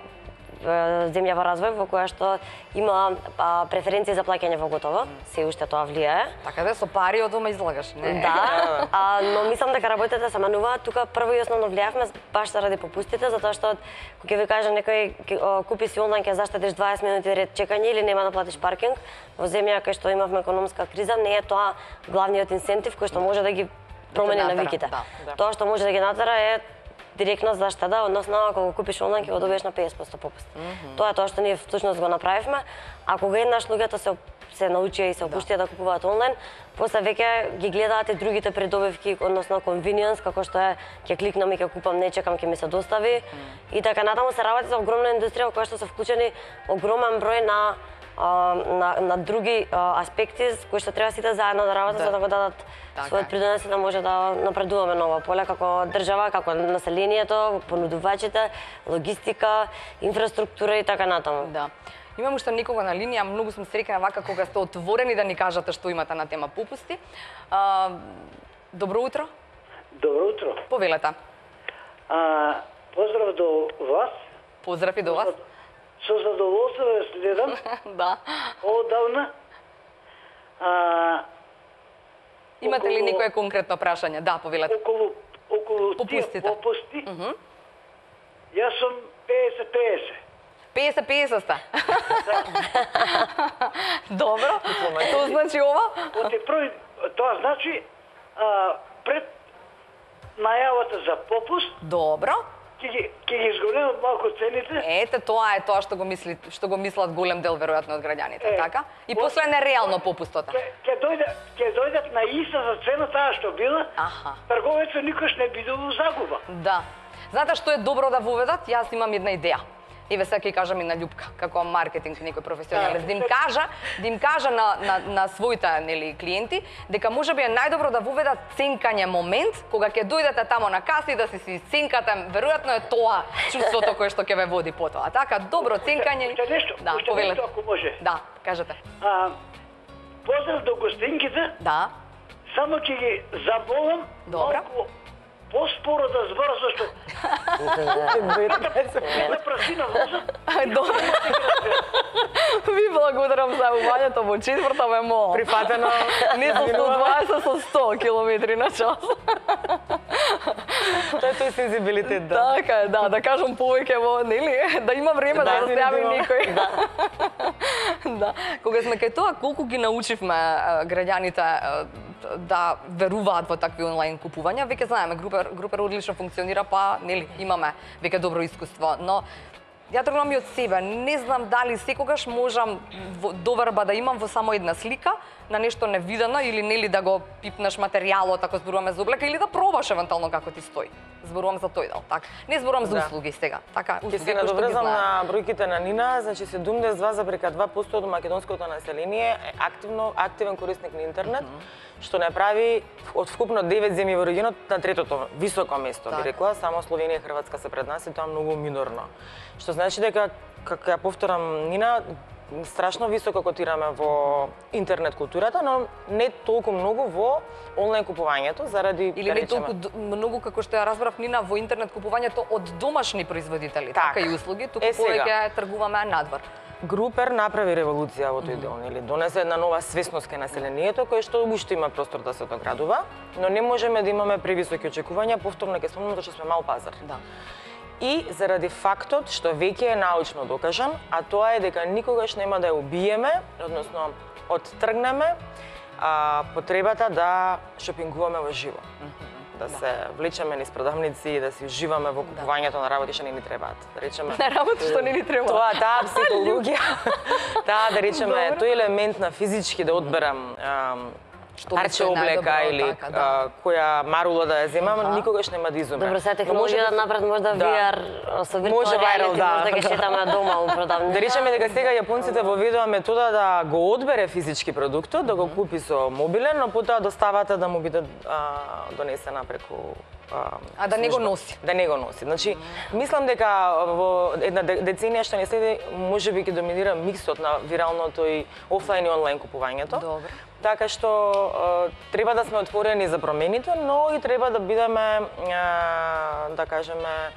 земја во развој во која што има а, преференции за плаќање во готово, се уште тоа влијае. Така да со пари од дома излагаш, не? Да, а, но мислам дека работите се менуваат. Тука прво и основно влијавме баш заради попустите, затоа што кога ќе ви кажа некој ке, купи си онлайн ќе заштедиш дваесет минути ред чекање или нема да платиш паркинг, во земја кај што имавме економска криза, не е тоа главниот инсентив кој што може да ги промени да навиките. Да, да. Тоа што може да ги натера е директно заштеда, односно ако го купиш онлайн ќе го добиеш на песет проценти попуст. Mm -hmm. Тоа е тоа што ние всушност го направивме. А кога еднаш луѓето се се научија и се опуштија да. да купуваат онлайн, после веќе ги гледаат и другите предобивки, односно convenience, како што е ќе кликнам и ќе купам, не чекам, ќе ми се достави. Mm -hmm. И така натаму се работи за огромна индустрија во која што се вклучени огромен број на на на други а, аспекти кои што треба сите заедно да работат да. за да го дадат така. својот придонес да може да напредуваме на ова поле како држава, како населението, понудувачите, логистика, инфраструктура и така натаму. Да. Имам уште некого на линија, многу сум среќна вака кога сте отворени да ни кажете што имате на тема попусти. А, добро утро. Добро утро. Повелете. А, поздрав до вас. Поздрав и до вас. Со задоволство ве следам. Да. Одавна. А, Имате ли некое конкретно прашање? Да, повелете. Околу околу попустите. Тие попусти. Uh -huh. Јас сум песет песет. песет песет сте. Добро. Што значи ова? Оти први, тоа значи а, пред најавата за попуст. Добро. ќе ги ќе ги зголемат малку цените. Ете, тоа е тоа што го мисли, што го мислат голем дел веројатно од граѓаните, Е, така? И по- после нереално попустота. Ќе ќе дојде ќе дојдат на иста за цена таа што била. Аха. Трговецот никош не биде во загуба. Да. Знаете што е добро да воведат? Јас имам една идеја. Еве сега ќе кажам и на Љупка, како маркетинг некој професионалец, да им кажа, да им кажа на на на своите нели клиенти дека можеби е најдобро да воведат ценкање момент кога ќе дојдете тамо на каса и да си си ценкате, веројатно е тоа чувството кое што ќе ве води потоа. Така, добро ценкање. Уште нешто, Да, уште повелете. нешто ако може. Да, кажете. А, поздрав до гостинките, Да. само ќе ги заболам Добро. малку поспоро да збора, зашто да прасина возот. Добро. Ви благодарам за увањето во четврта ме мола. Прифатено. Не со сто дваесет, со сто километри на час. Тоа е тој сензибилитет, да. Така е, да, да кажам повеќе во, нели, да има време да, Да, да се јави видимо. некој. Да. Да. Кога сме кај тоа, колку ги научивме а, граѓаните а, да веруваат во такви онлайн купувања, веќе знаеме, групер, групер одлично функционира, па, нели, имаме веќе добро искуство, но ја тргнам и од себе, не знам дали секогаш можам во доверба да имам во само една слика на нешто невидено или нели да го пипнеш материјалот ако зборуваме за облека или да пробаш евентуално како ти стои. Зборувам за тој дел, така. Не зборувам за Да. услуги сега, така, Ќе услуги се кои што ги надоврзам знаеме. на бројките на Нина, значи седумдесет и два запирка два проценти од македонското население е активно активен корисник на интернет, што не прави од вкупно девет земји во регионот на третото високо место, Така. би рекла, само Словенија и Хрватска се пред нас и тоа многу минорно. Што значи дека, како ја повторам Нина, страшно високо котираме во интернет културата, но не толку многу во онлайн купувањето заради Или да не речеме, толку д- многу како што ја разбрав Нина во интернет купувањето од домашни производители, така, Така. и услуги, туку Е, сега. повеќе тргуваме надвор. Групер направи револуција во тој дел, нели? Донесе една нова свесност кај населението кој што уште има простор да се доградува, но не можеме да имаме превисоки очекувања, повторно ќе спомнам што сме мал пазар. Да. И заради фактот што веќе е научно докажан, а тоа е дека никогаш нема да ја убиеме, односно оттргнеме а, потребата да шопингуваме во живо. Да се влечеме низ продавници и да си уживаме во купувањето на работи што не ни требаат. Да речеме На работа што не ни треба. Тоа, таа психологија, таа да речеме, Добро. тој елемент на физички да одберам ам, Што парче мислам е облека најдобро, или така, да. а, која марула да ја земам, Аха. никогаш нема да изумре. Добро, сега Но може технологијата да- напред може да Да. ви ар со Може виртуални viral, реалити, да, може да ги да. шетаме дома у продавница. Да речеме дека сега јапонците воведува метода да го одбере физички продуктот, да го купи со мобилен, но потоа доставата да му биде а, донесена преку а, А да не го служба. носи. Да не го носи. Значи, мислам дека во една де- деценија што не следи, можеби ќе доминира миксот на виралното и офлайн и онлайн купувањето. Добро. Така што е, треба да сме отворени за промените, но и треба да бидеме, е, да кажеме,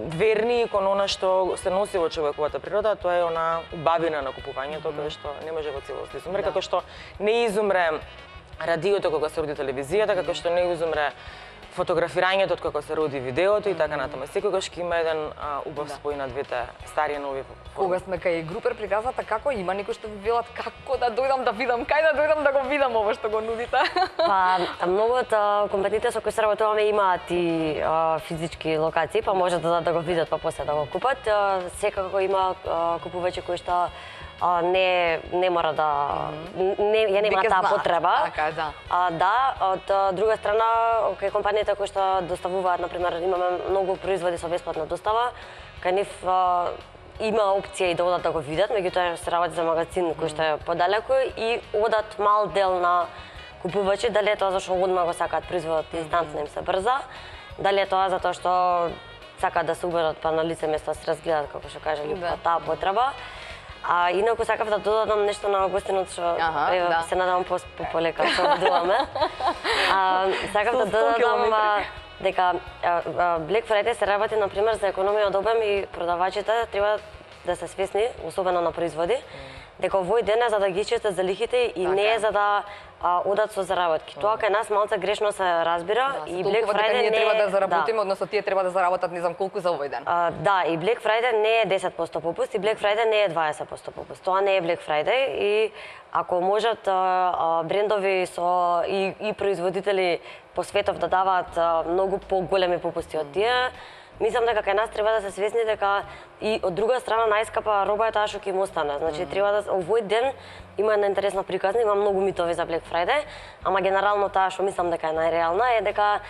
верни кон она што се носи во човековата природа, а тоа е она убавина на купувањето, кое што не може во целост да изумре, како што не изумре радиото кога се роди телевизијата, како што не изумре фотографирањето од како се роди видеото и така натаму. Секогаш ќе има еден а, убав спој на двете стари и нови форми. Кога сме кај групер приказната, како има некои што ви велат како да дојдам да видам, кај да дојдам да го видам ова што го нудите? Па, многу од а, компаниите со кои се работуваме имаат и а, физички локации, па може да, да го видат па после да го купат. А, секако има а, купувачи кои што а, не не мора да не ја нема Веќе таа знаат, потреба. така е, да. А да, од а, друга страна, кај компаниите кои што доставуваат, на пример, имаме многу производи со бесплатна достава, кај нив а, има опција и да одат да го видат, меѓутоа се работи за магазин кој што е подалеку и одат мал дел на купувачи, дали е тоа зашто одма го сакаат производот инстантно им се брза, дали е тоа затоа што сакаат да се убедат па на лице место да се разгледат, како што кажа Љупка, Да. таа потреба. А инаку сакав да додадам нешто на гостинот што Аха, еве, да. се надевам по по- полека се обидуваме. А, сакав Со да сто додадам километри. а, дека а, а, Black Friday се работи на пример за економија од обем и продавачите треба да се свесни, особено на производи, дека овој ден е за да ги ичистат залихите и Така не е. е за да а, одат со заработки. Тоа кај нас малце грешно се разбира и Black Friday ние не треба да е- заработиме, односно тие треба да заработат не знам колку за овој ден. А, да, и Black Friday не е десет на сто попуст и Black Friday не е дваесет на сто попуст. Тоа не е Black Friday и ако можат а, а, брендови со и, и производители по светов да даваат а, многу поголеми попусти од тие, мислам дека кај нас треба да се свесни дека и од друга страна најскапа роба е таа што ќе им остане. Значи треба да овој ден има една интересна приказна, има многу митови за Black Friday, ама генерално таа што мислам дека е најреална е дека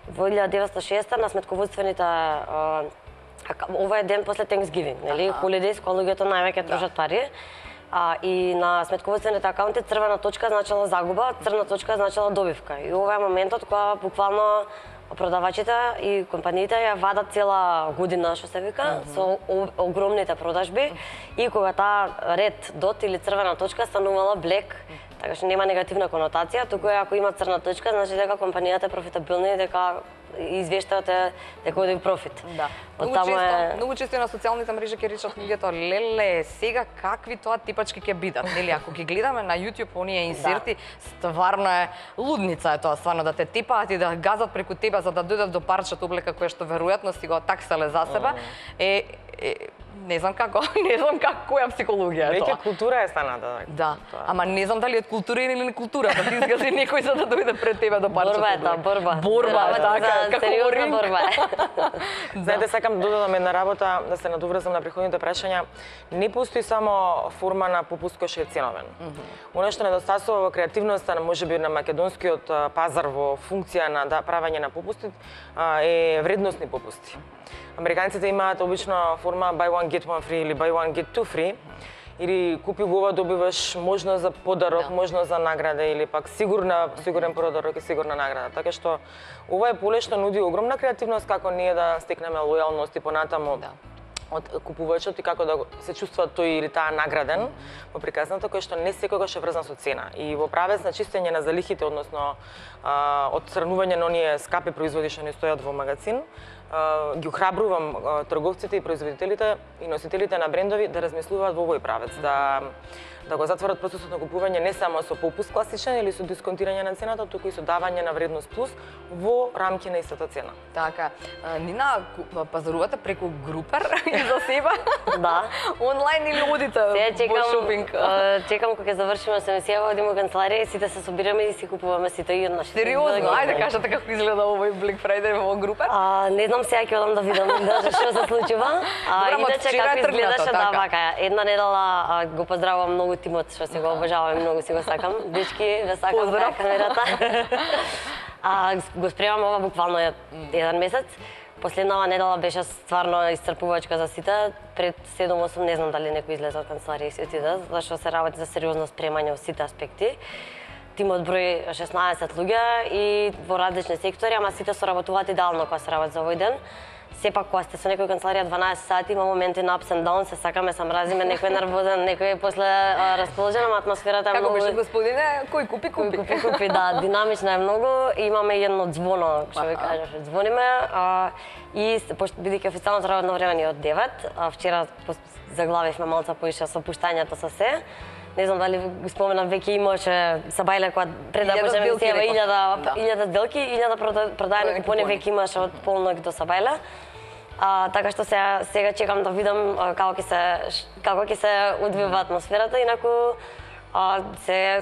во илјада деветстотини и шесте на сметководствените а, ова е ден после Thanksgiving, нели? Holidays, кога луѓето највеќе трошат пари. А, и на сметководствените акаунти црвена точка значила загуба, црна точка значила добивка. И ова е моментот кога буквално продавачите и компаниите ја вадат цела година, што се вика, mm -hmm. со о, огромните продажби и кога таа ред дот или црвена точка станувала блек, така што нема негативна конотација, туку е ако има црна точка, значи дека компанијата е профитабилна и дека извештавате дека оди профит. Да. Многу често, е... многу често на социјалните мрежи ќе речат луѓето, леле, сега какви тоа типачки ќе бидат, нели? Ако ги гледаме на YouTube оние инсерти, да. Стварно е лудница е тоа, стварно да те типаат и да газат преку тебе за да дојдат до парчето облека кое што веројатно си го такселе за себе, е, е не знам како, не знам како која психологија е тоа. Веќе култура е станата. Да, ама не знам дали е култура или не култура, да ти изгази некој за да дојде пред тебе до парчето. Борба е тоа, борба. Борба е така, како во ринг. Борба е. Знаете, сакам да додадам една работа, да се надоврзам на претходните прашања. Не постои само форма на попуст кој што е ценовен. Mm -hmm. Оно што недостасува во креативноста, можеби на македонскиот пазар во функција на да, правење на попусти, е вредносни попусти. Американците имаат обично форма buy one get one free или buy one get two free. Или купи го ова добиваш можност за подарок, да. Можност за награда или пак сигурна сигурен подарок и сигурна награда. Така што ова е поле што нуди огромна креативност како ние да стекнеме лојалност и понатаму. Да. Од купувачот и како да се чувствува тој или таа награден во приказната, кој што не секогаш е врзан со цена. И во правец на чистење на залихите, односно а, одстранување на оние скапи производи што не стојат во магазин, а, ги охрабрувам а, трговците и производителите и носителите на брендови да размислуваат во овој правец, да да го затворат процесот на купување не само со попуст класичен или со дисконтирање на цената, туку и со давање на вредност плюс во рамки на истата цена. Така, Нина, пазарувате преку Групер и за себе? Да. Онлайн или одите во шопинг? Чекам кога ќе завршиме се месија, одиме во канцеларија и сите се собираме и си купуваме сите и еднаш. Сериозно, ајде кажете како изгледа овој Black Friday во Групер? А, не знам сега ќе одам да видам даже што се случува. А иначе како изгледаше, да, вака, една недела го поздравувам многу тимот што се го обожавам и многу си го сакам. Дечки, ве сакам на камерата. А го спремам ова буквално еден месец. Последнава недела беше стварно исцрпувачка за сите. Пред седум-осум не знам дали некој излезе од канцеларија и се отиде, зашто се работи за сериозно спремање во сите аспекти. Тимот број шеснаесет луѓе и во различни сектори, ама сите соработуваат идеално кога се работи за овој ден. Сепак кога сте со некој канцеларија дванаесет сати, има моменти на ups and downs, се сакаме, се мразиме, некој е нервозен, некој е после а, расположен, ама атмосферата е како многу... Како беше господине, кој купи, купи. Кој купи, купи, да, динамична е многу. Имаме едно звоно, што ви кажеше, звониме. А, и бидејќи официјалното работно време ни е од девет, а вчера заглавивме малце поише со пуштањето со се. Не знам дали го споменам, веќе имаше Сабајле кога пред да почнеме емисија илјада сделки, илјада продаени купони веќе имаше од полнок до Сабајле. А, така што сега, сега чекам да видам а, како ќе се како ќе се одвива атмосферата, инаку а, се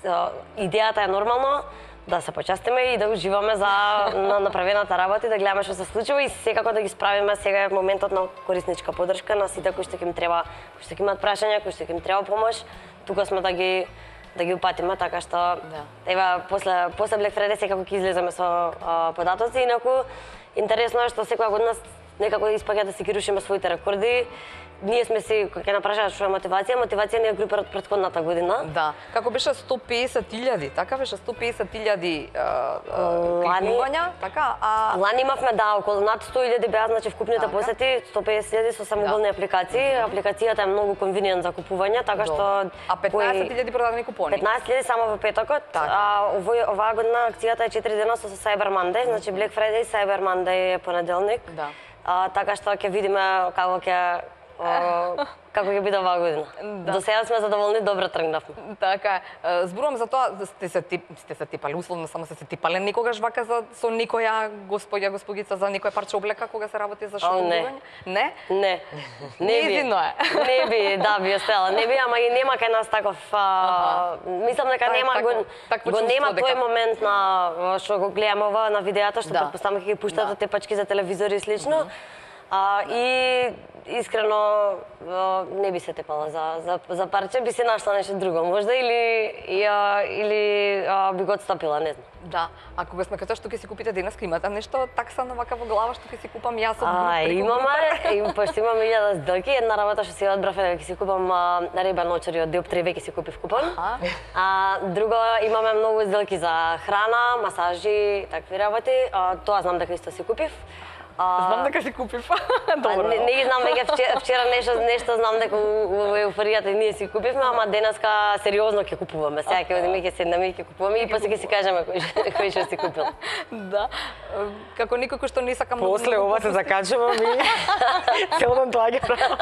а, идејата е нормално да се почастиме и да уживаме за на направената работа и да гледаме што се случува и секако да ги справиме. Сега е моментот на корисничка поддршка на сите кои што ќе им треба, кои што ќе имаат прашања, кои што ќе им треба помош. Тука сме да ги да ги упатиме, така што да. Ева после после Black Friday секако ќе излеземе со а, податоци, инаку интересно е што секоја година некако испаѓа да си ги рушиме своите рекорди. Ние сме си, кога ќе напрашаат што е мотивација, мотивација ни е Групер од претходната година. Да, како беше сто песет илјади, така беше сто песет илјади кликнувања, така, а... Лани имавме, да, околу над сто илјади беа, значи вкупните така. Посети, сто песет илјади со самоголни да. Апликации. Апликацијата е многу конвиниент за купување, така што... А петнаесет илјади продадени купони? петнаесет илјади само во петокот, така. А овој, оваа година акцијата е четири дена со Cyber Monday, значи Black Friday и Cyber Monday е понеделник. Да. А, така што ќе видиме како ќе а, како ќе биде оваа година. Да. До сега сме задоволни, добро тргнавме. Така е. Зборувам за тоа, сте се тип, сте се типали, условно само се се типале никогаш вака за со никоја господја, господица за никој парче облека кога се работи за шоколадање? Не. Не? Не. Не би. Неизино е. Не би, да, би остела. Не би, ама и нема кај нас таков, а, мислам дека Та- нема тако- го, такво го чувство нема дека- тој момент на што го гледаме ова на видеата, што Да. претпоставам ќе ги пуштат Да. тепачки за телевизори и слично. А, и искрено а, не би се тепала за, за, за парче, би се нашла нешто друго, можда или, ја, или а, би го отстапила, не знам. Да. А кога сме кај што ќе си купите денес, имате нешто таксано вака во глава што ќе си купам јас од А, преку имаме, им, пошто имаме илјада сделки, една работа што си одбрав е дека ќе си купам а, рибен очери од Диоптри, веќе си купив купон. Аха. А, друго, имаме многу сделки за храна, масажи, такви работи. А, тоа знам дека исто си купив. А, Знам дека си купив. а, Добро. не, не ги знам веќе вчера, вчера нешто, нешто знам дека во еуфоријата и ние си купивме, ама денеска сериозно ќе купуваме. Сега ќе одиме, ќе седнеме и ќе купуваме и после ќе си кажеме кој што- кој што си купил. Да. Како никој кој што не сака многу. После многу ова се попусти. закачувам и цел ден тоа ги правам.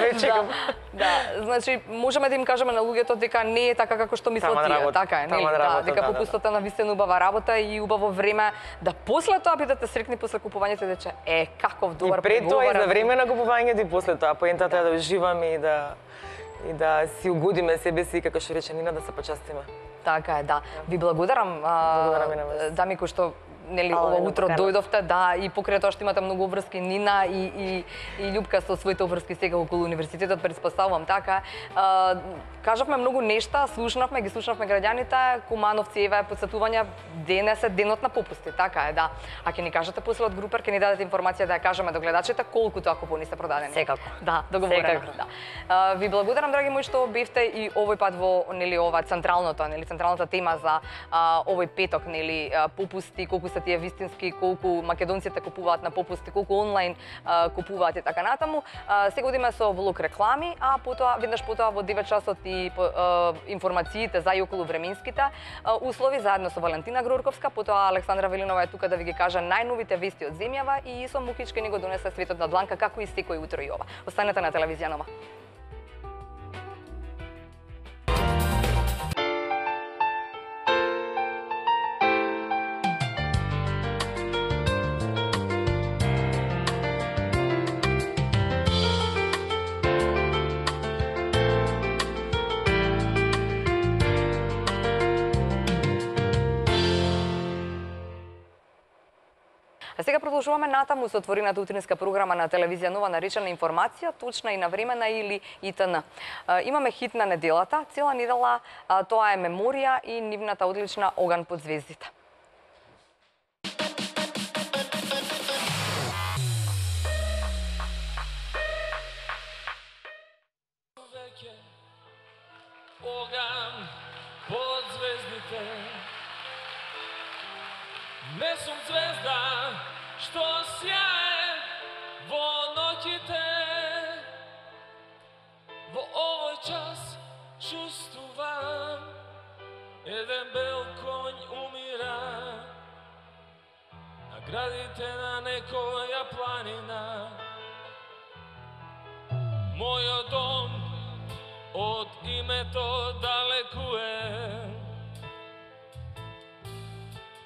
Веќе Да, го- да, значи можеме да им кажеме на луѓето дека не е така како што мислат Таман тие, работа, така е, нели? таман Да, работа, дека да, да, попустот е навистина убава работа и убаво време да после тоа бидете срекни после купувањето и рече е каков И добар пред тоа и за преговарам. време на купувањето и после тоа. Поентата е да уживаме и да и да си угодиме себе си, како што рече Нина, да се почастиме. Така е, да. Ви благодарам, а, Благодарам и на вас. дами кои што нели Ало, ова да утро поканав. дојдовте, да, и покрај тоа што имате многу обврски Нина и и и Љупка со своите обврски сега околу универзитетот, претпоставувам така. А, кажавме многу нешта, слушнавме, ги слушнавме граѓаните, Кумановци, еве потсетувања, денес е денот на попусти, така е, да. А ќе ни кажете после од Групер, ќе ни дадете информација да ја кажеме до гледачите колку тоа купони се продадени. Секако. Да, договорено. Секако. Да. А, ви благодарам, драги мои, што бевте и овој пат во нели ова централното, нели централната тема за а, овој петок, нели а, попусти, колку се тие вистински, колку македонците купуваат на попусти, колку онлайн а, купуваат и така натаму. А, сега одиме со влог реклами, а потоа веднаш потоа во девет часот и по, а, информациите за и околу временските а, услови заедно со Валентина Грорковска, потоа Александра Велинова е тука да ви ги каже најновите вести од земјава и Исо Мукич ќе ни го донесе светот на дланка како и секој утро и ова. Останете на телевизија Нова. А сега продолжуваме натаму со отворената утринска програма на телевизија Нова наречена информација, точна и навремена или И Т Н. А, имаме хит на неделата, цела недела а, тоа е меморија и нивната одлична Оган под звездите. Оган под звездите. Не сум звезда што сјае во ноќите. Во овој час чувствувам еден бел конј умира на градите на некоја планина. Мојот дом од името далеку е.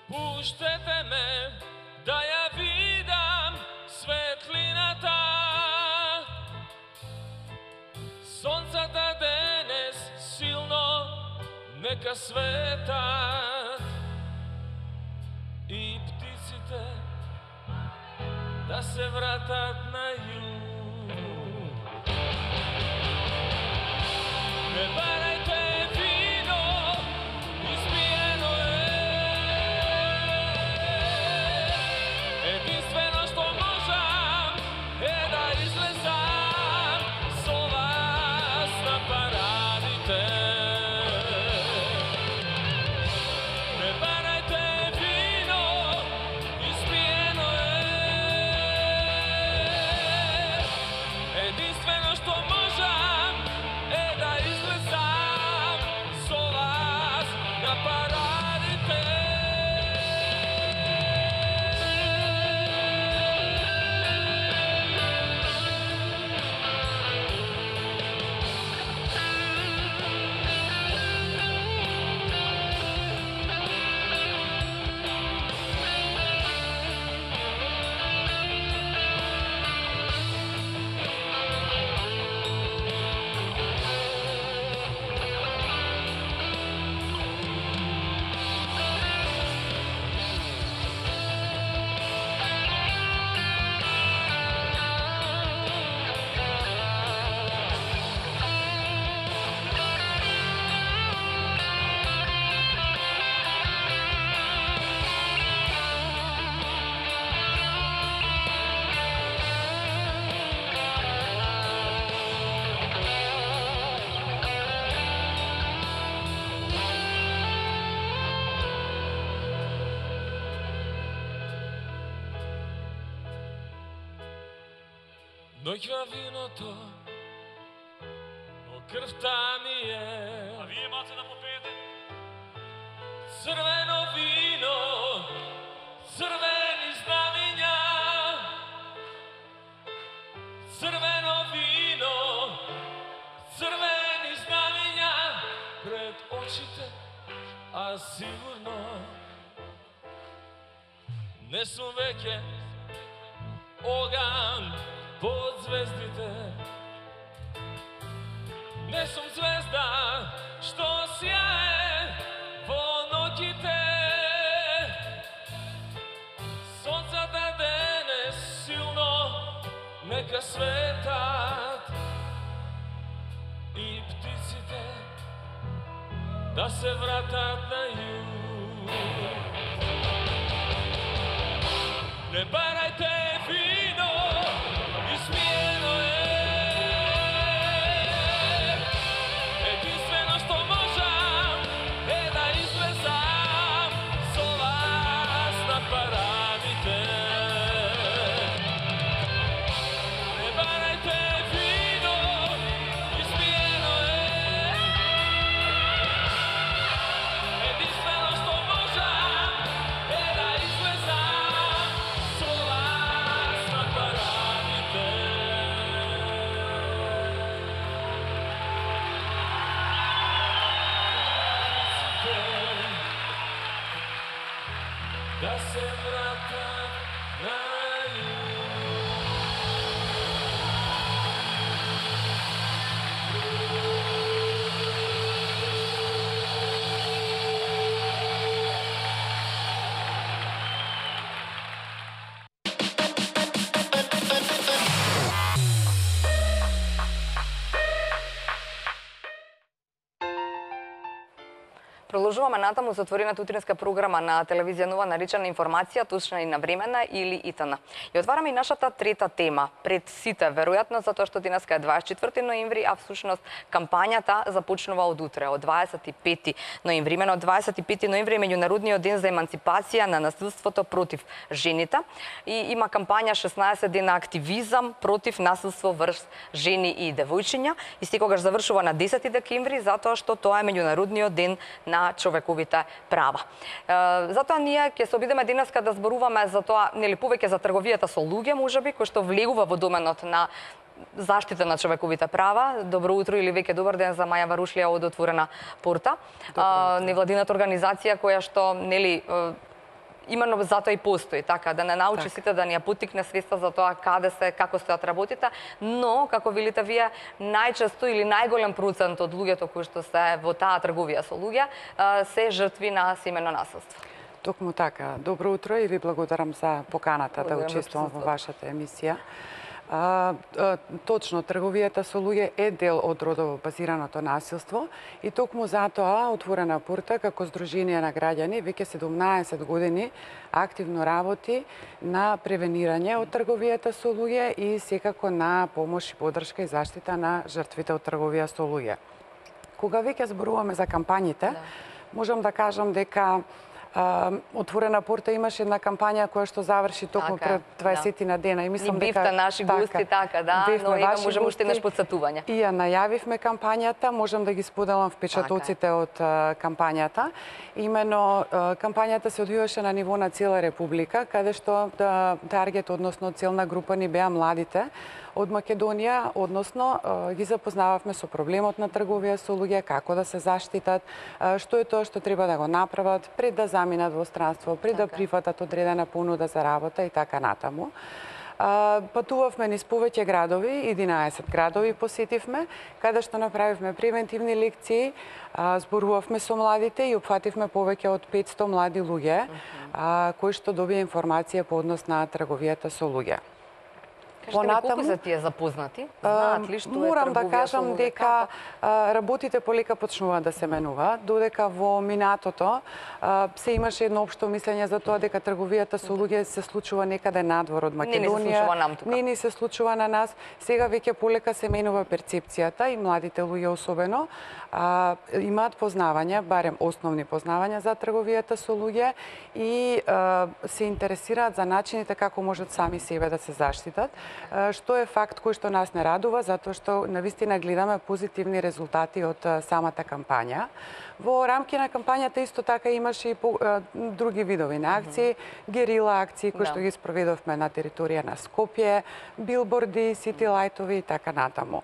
Пуштете ме да ја видам светлината. Сонцата денес силно нека светат и птиците да се вратат на југ. Не барајте вино, испиено е. Единствено што можам е да излезам со вас на парадите. Не барајте вино, испиено е. Единствено што можам е да излезам Ноќ во виното, но крвта ми е. А вие маце да попеете? Црвено вино, црвени знамиња. Црвено вино, црвени знамиња пред очите, а сигурно не сум веќе оган под звездите. Не сум звезда што сјае во ноќите. Сонцата денес силно нека светат и птиците да се вратат на југ. Не барајте вино, измиено е. Единствено што можам е да излезам со вас на парадите. Не барајте вино, измиено е. Единствено што можам е да излезам со вас на парадите. Да се вратат на Продолжуваме натаму со отворената утринска програма на телевизија Нова, наречена Информација, точна и навремена или И Т Н. И отвараме и нашата трета тема. Пред сите, веројатно затоа што денеска е дваесет и четврти ноември, а всушност кампањата започнува од утре, од дваесет и пети ноември. Имено дваесет и пети ноември е меѓународниот ден за емансипација на насилството против жените и има кампања шеснаесет дена активизам против насилство врз жени и девојчиња и секогаш завршува на десети декември затоа што тоа е меѓународниот ден на човековите права. Затоа ние ќе се обидеме денеска да зборуваме за тоа, нели повеќе за трговијата со луѓе, можеби, кој што влегува во доменот на заштита на човековите права. Добро утро или веќе добар ден за Маја Варушлија од Отворена порта. Невладината организација која што нели именно затоа и постои, така, да не научи так. Сите да ни ја поттикне свеста за тоа каде се, како стојат работите, но, како велите вие, најчесто или најголем процент од луѓето кои што се во таа трговија со луѓе, се жртви на семено насилство. Токму така. Добро утро и ви благодарам за поканата да учествувам во вашата емисија. А, а, точно, трговијата со луѓе е дел од родово базираното насилство и токму затоа Отворена порта како здружение на граѓани веќе седумнаесет години активно работи на превенирање од трговијата со луѓе и секако на помош и подршка и заштита на жртвите од трговија со луѓе. Кога веќе зборуваме за кампањите, да. Можам да кажам дека Uh, Отворена порта имаше една кампања која што заврши токму така, пред дваесет на дена и мислам дека бивте наши така, гости така, да, но има можеме уште неш подсетување. И ја најавивме кампањата, можам да ги споделам впечатоците така. Од uh, кампањата. Имено uh, кампањата се одвиваше на ниво на цела република, каде што да, таргет, односно целна група ни беа младите од Македонија, односно ги запознававме со проблемот на трговија со луѓе, како да се заштитат, што е тоа што треба да го направат пред да заминат во странство, пред така. Да прифатат одредена понуда за работа и така натаму. Патувавме низ повеќе градови, единаесет градови посетивме, каде што направивме превентивни лекции, зборувавме со младите и опфативме повеќе од петсто млади луѓе, кои што добија информација по однос на трговијата со луѓе. Кажете ми, колку се тие запознати? Знаат ли што е трговија со луѓе? Морам да кажам дека работите полека почнуваат да се менуваат, додека во минатото се имаше едно општо мислење за тоа дека трговијата со луѓе се случува некаде надвор од Македонија. Не ни се случува нам тука. Не ни се случува на нас. Сега веќе полека се менува перцепцијата и младите луѓе особено а, имаат познавања, барем основни познавања за трговијата со луѓе и а, се интересираат за начините како можат сами себе да се заштитат. што е факт кој што нас не радува, затоа што навистина гледаме позитивни резултати од самата кампања. Во рамки на кампањата исто така имаше и по, а, други видови на акции, герила акции кои што ги спроведовме на територија на Скопје, билборди, сити лајтови и така натаму.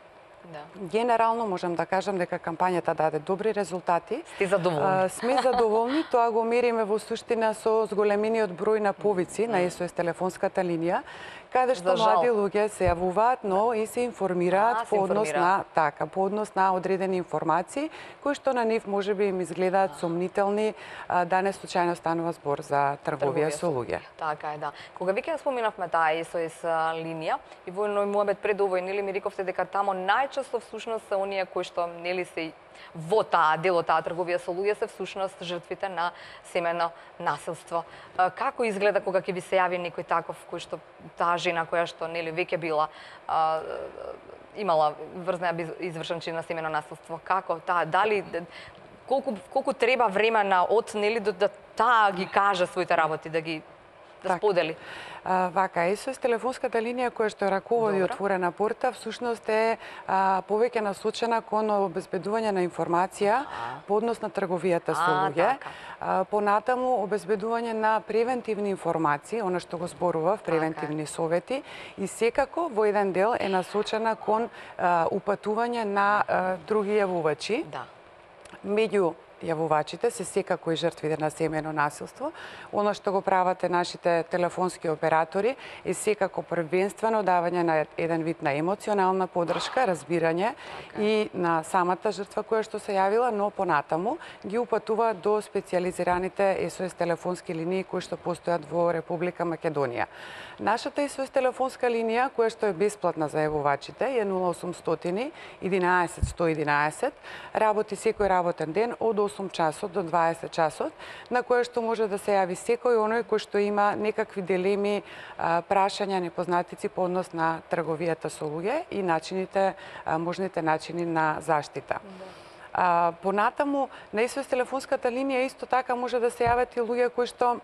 Да. Генерално можам да кажам дека кампањата даде добри резултати. Сте задоволни? А, сме задоволни, тоа го мериме во суштина со зголемениот број на повици на Ес О Ес телефонската линија, каде што млади луѓе се јавуваат, но и се информираат по однос на така, по однос на одредени информации кои што на нив можеби им изгледаат сомнителни, да не случајно станува збор за трговија со луѓе. Така е, да. Кога веќе споминавме таа Ес О Ес линија и во едној муабет пред овој, нели ми рековте дека тамо најчесто всушност се оние кои што нели се во таа дел од таа трговија со луѓе се всушност жртвите на семено насилство. Како изгледа кога ќе ви се јави некој таков кој што таа жена која што нели веќе била а, имала врз неа извршен чин на семено насилство? Како таа дали колку колку треба времена од нели до да таа ги каже своите работи, да ги да сподели? А, вака, Ес О Ес телефонската линија која што раководи Отворена порта, всушност е а, повеќе насочена кон обезбедување на информација по однос на трговијата со луѓе. А, понатаму обезбедување на превентивни информации, она што го зборував, превентивни совети, и секако во еден дел е насочена кон а, упатување на а, други јавувачи. Да. Меѓу јавувачите се секако и жртвите на семено насилство. Оно што го прават нашите телефонски оператори е секако првенствено давање на еден вид на емоционална поддршка, разбирање и на самата жртва која што се јавила, но понатаму ги упатува до специјализираните Ес О Ес телефонски линии кои што постојат во Република Македонија. Нашата Ес О Ес телефонска линија, која што е бесплатна за јавувачите, е нула осумстотини единаесет сто единаесет, работи секој работен ден од осум часот до дваесет часот, на кое што може да се јави секој оној кој што има некакви дилеми, прашања, непознатици по однос на трговијата со луѓе и начините, можните начини на заштита. А, понатаму, на Ес О Ес телефонската линија исто така може да се јават и луѓе кои што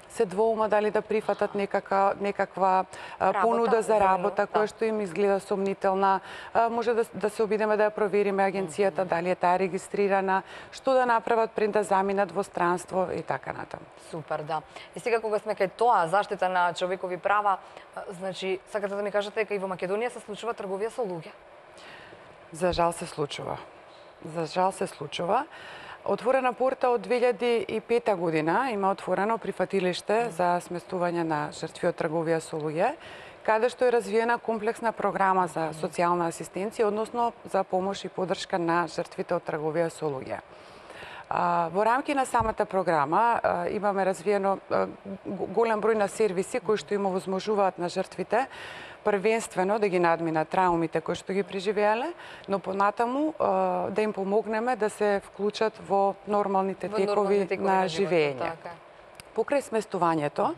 се двоума дали да прифатат некака, некаква работа, понуда за работа, која што им изгледа сомнителна. А, може да, да се обидеме да ја провериме агенцијата, дали е таа регистрирана, што да направат пред да заминат во странство и така натаму. Супер, да. И сега кога сме кај тоа, заштита на човекови права, значи, сакате да ми кажете дека и во Македонија се случува трговија со луѓе? За жал се случува. За жал се случува. Отворена порта од две илјади и пета година има отворено прифатилиште за сместување на жртви од трговија со луѓе, каде што е развиена комплексна програма за социјална асистенција, односно за помош и поддршка на жртвите од трговија со луѓе. Во рамки на самата програма имаме развиено голем број на сервиси кои што им овозможуваат на жртвите првенствено да ги надминат траумите кои што ги преживеале, но понатаму да им помогнеме да се вклучат во нормалните текови на живење. Покрај сместувањето,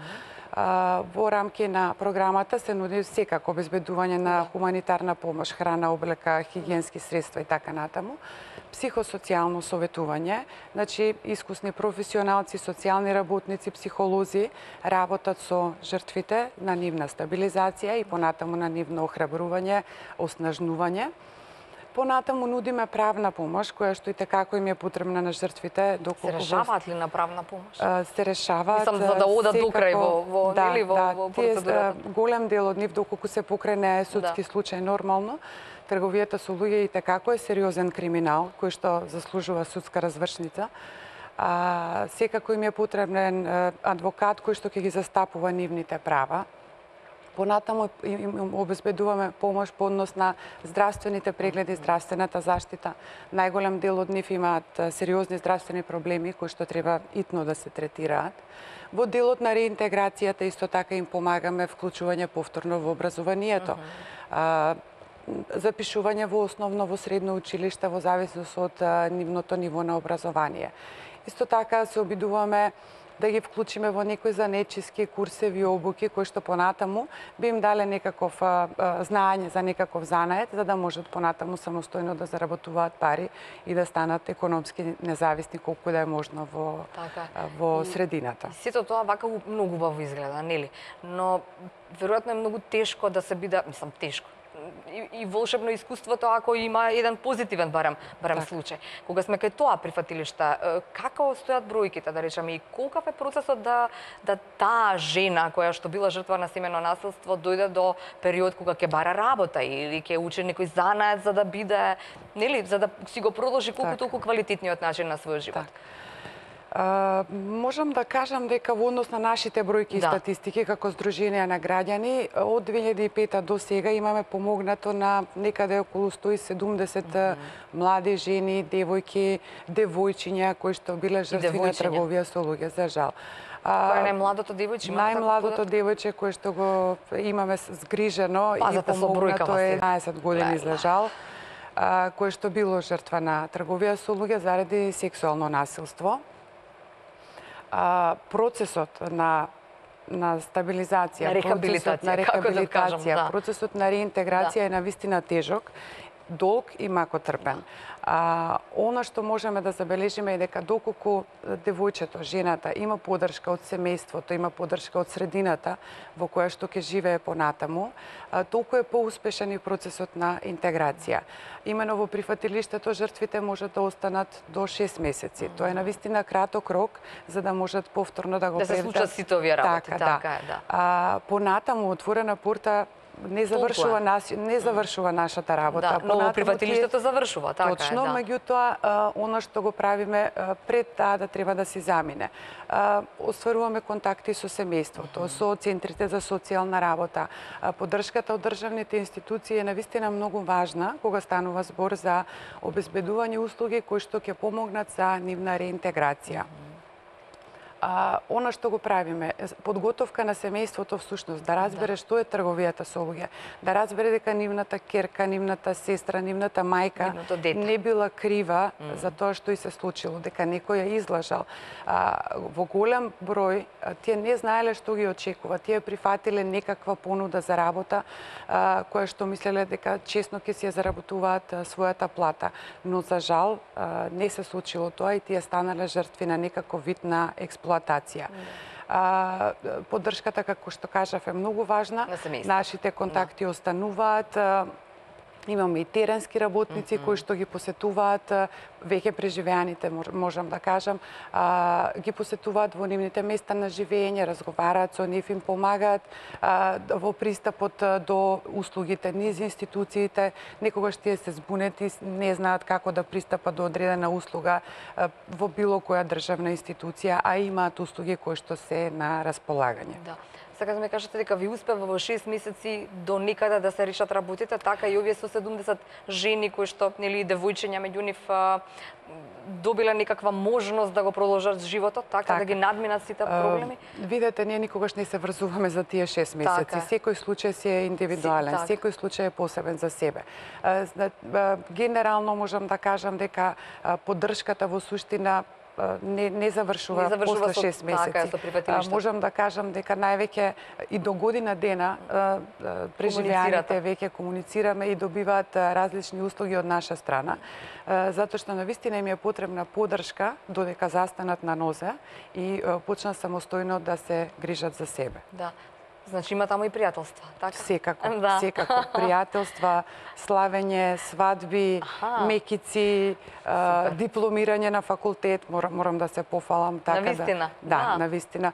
во рамки на програмата се нуди секако обезбедување на хуманитарна помош, храна, облека, хигиенски средства и така натаму, психосоцијално советување, значи искусни професионалци, социјални работници, психолози работат со жртвите на нивна стабилизација и понатаму на нивно охрабрување, оснажнување. Понатаму нудиме правна помош, која што и tekako им е потребна на жртвите. Се решаваат ли на правна помош? Се решаваат. Мислам, за да одат до крај во, во, да, нели, во, да, во процедурата? Голем дел од нив, доколку се покрене судски да. случај нормално, трговијата со луѓе и tekako е сериозен криминал, кој што заслужува судска развршница. А, секако им е потребен адвокат кој што ќе ги застапува нивните права. Понатаму им обезбедуваме помош по однос на здравствените прегледи, здравствената заштита. Најголем дел од нив имаат сериозни здравствени проблеми кои што треба итно да се третираат. Во делот на реинтеграцијата исто така им помагаме вклучување повторно во образованието. Uh-huh. Запишување во основно, во средно училиште во зависност од нивното ниво на образование. Исто така се обидуваме да ги вклучиме во некои занечиски курсеви обуки кои што понатаму би им дале некаков а, а, знаење за некаков занает, за да можат понатаму самостојно да заработуваат пари и да станат економски независни колку да е можно во така. во средината. Сето тоа вака многу убаво изгледа, нели? Но веројатно е многу тешко да се биде, мислам тешко. И, и волшебно искуството ако има еден позитивен барем барем так. случај. Кога сме кај тоа прифатилишта, како стојат бројките, да речеме, и колкав е процесот да да таа жена која што била жртва на семено насилство дојде до период кога ќе бара работа или ќе учи некој занает за да биде, нели, за да си го продолжи колку так. толку квалитетниот начин на својот живот. Так. А, можам да кажам дека во однос на нашите бројки и да. статистики како Сдружение на граѓани од две илјади и пета до сега имаме помогнато на некаде околу сто и седумдесет mm -hmm. млади жени, девојки, девојчиња кои што биле жртви на трговија со луѓе, за жал. Кој е најмладото девојче? Најмладото девојче кое што го имаме згрижено Пазате и помогнато е еднаесет години, за жал, кое што било жртва на трговија со луѓе заради сексуално насилство. А, процесот на на стабилизација, на рехабилитација, процесот на рехабилитација, да кажам, да. процесот на реинтеграција да. е навистина тежок, долг и макотрпен. А, она што можеме да забележиме е дека доколку девојчето, жената има поддршка од семејството, има поддршка од средината во која што ќе живее понатаму, а, толку е поуспешен и процесот на интеграција. Имено во прифатилиштето жртвите можат да останат до шест месеци. Mm -hmm. Тоа е навистина краток рок за да можат повторно да го да се случат сите овие работи. Така, така да. е, да. А, понатаму отворена порта не завршува нас, не завршува нашата работа. Да, но во прифатилиштето завршува, така точно, е, да. меѓутоа она што го правиме пред таа да треба да си замине. Остваруваме контакти со семејството, со центрите за социјална работа. Поддршката од државните институции е навистина многу важна кога станува збор за обезбедување услуги кои што ќе помогнат за нивна реинтеграција. А, она што го правиме, подготовка на семејството всушност, да разбере да. што е трговијата со луѓе, да разбере дека нивната керка, нивната сестра, нивната мајка не била крива mm. за тоа што и се случило, дека некој ја излажал. А, во голем број, тие не знаеле што ги очекува, тие прифатиле некаква понуда за работа, а, која што мислеле дека честно ќе си ја заработуваат а, својата плата. Но за жал а, не се случило тоа и тие станале жртви на некаков вид на експлоатација. А, поддршката, како што кажав, е многу важна. На Нашите контакти да. остануваат. Имаме и теренски работници mm -hmm. кои што ги посетуваат, веќе преживеаните, можам да кажам, а, ги посетуваат во нивните места на живење, разговараат со нив, им помагаат а, во пристапот до услугите низ институциите. Некогаш тие се збунети, не знаат како да пристапат до одредена услуга а, во било која државна институција, а имаат услуги кои што се на располагање. Да. Сака да ме кажете дека ви успева во шест месеци до некаде да се решат работите, така и овие сто седумдесет жени кои што, нели, девојчиња меѓу нив добиле некаква можност да го продолжат животот, така, така. да ги надминат сите проблеми? Uh, видете, ние никогаш не се врзуваме за тие шест месеци. Така. Секој случај си е индивидуален, Си, така. секој случај е посебен за себе. Uh, uh, генерално можам да кажам дека uh, поддршката во суштина не не завршува, не завршува после шест месеци. Така, со прифатилиштето. Можам да кажам дека највеќе и до година дена преживеаните веќе комуницираме и добиваат различни услуги од наша страна, затоа што навистина им е потребна поддршка додека застанат на нозе и почнат самостојно да се грижат за себе. Да. Значи има таму и пријателства, така? Секако, да. секако. Пријателства, славење, свадби, Аха. мекици, а, дипломирање на факултет, морам, морам да се пофалам. Така навистина? Да, да, да, навистина.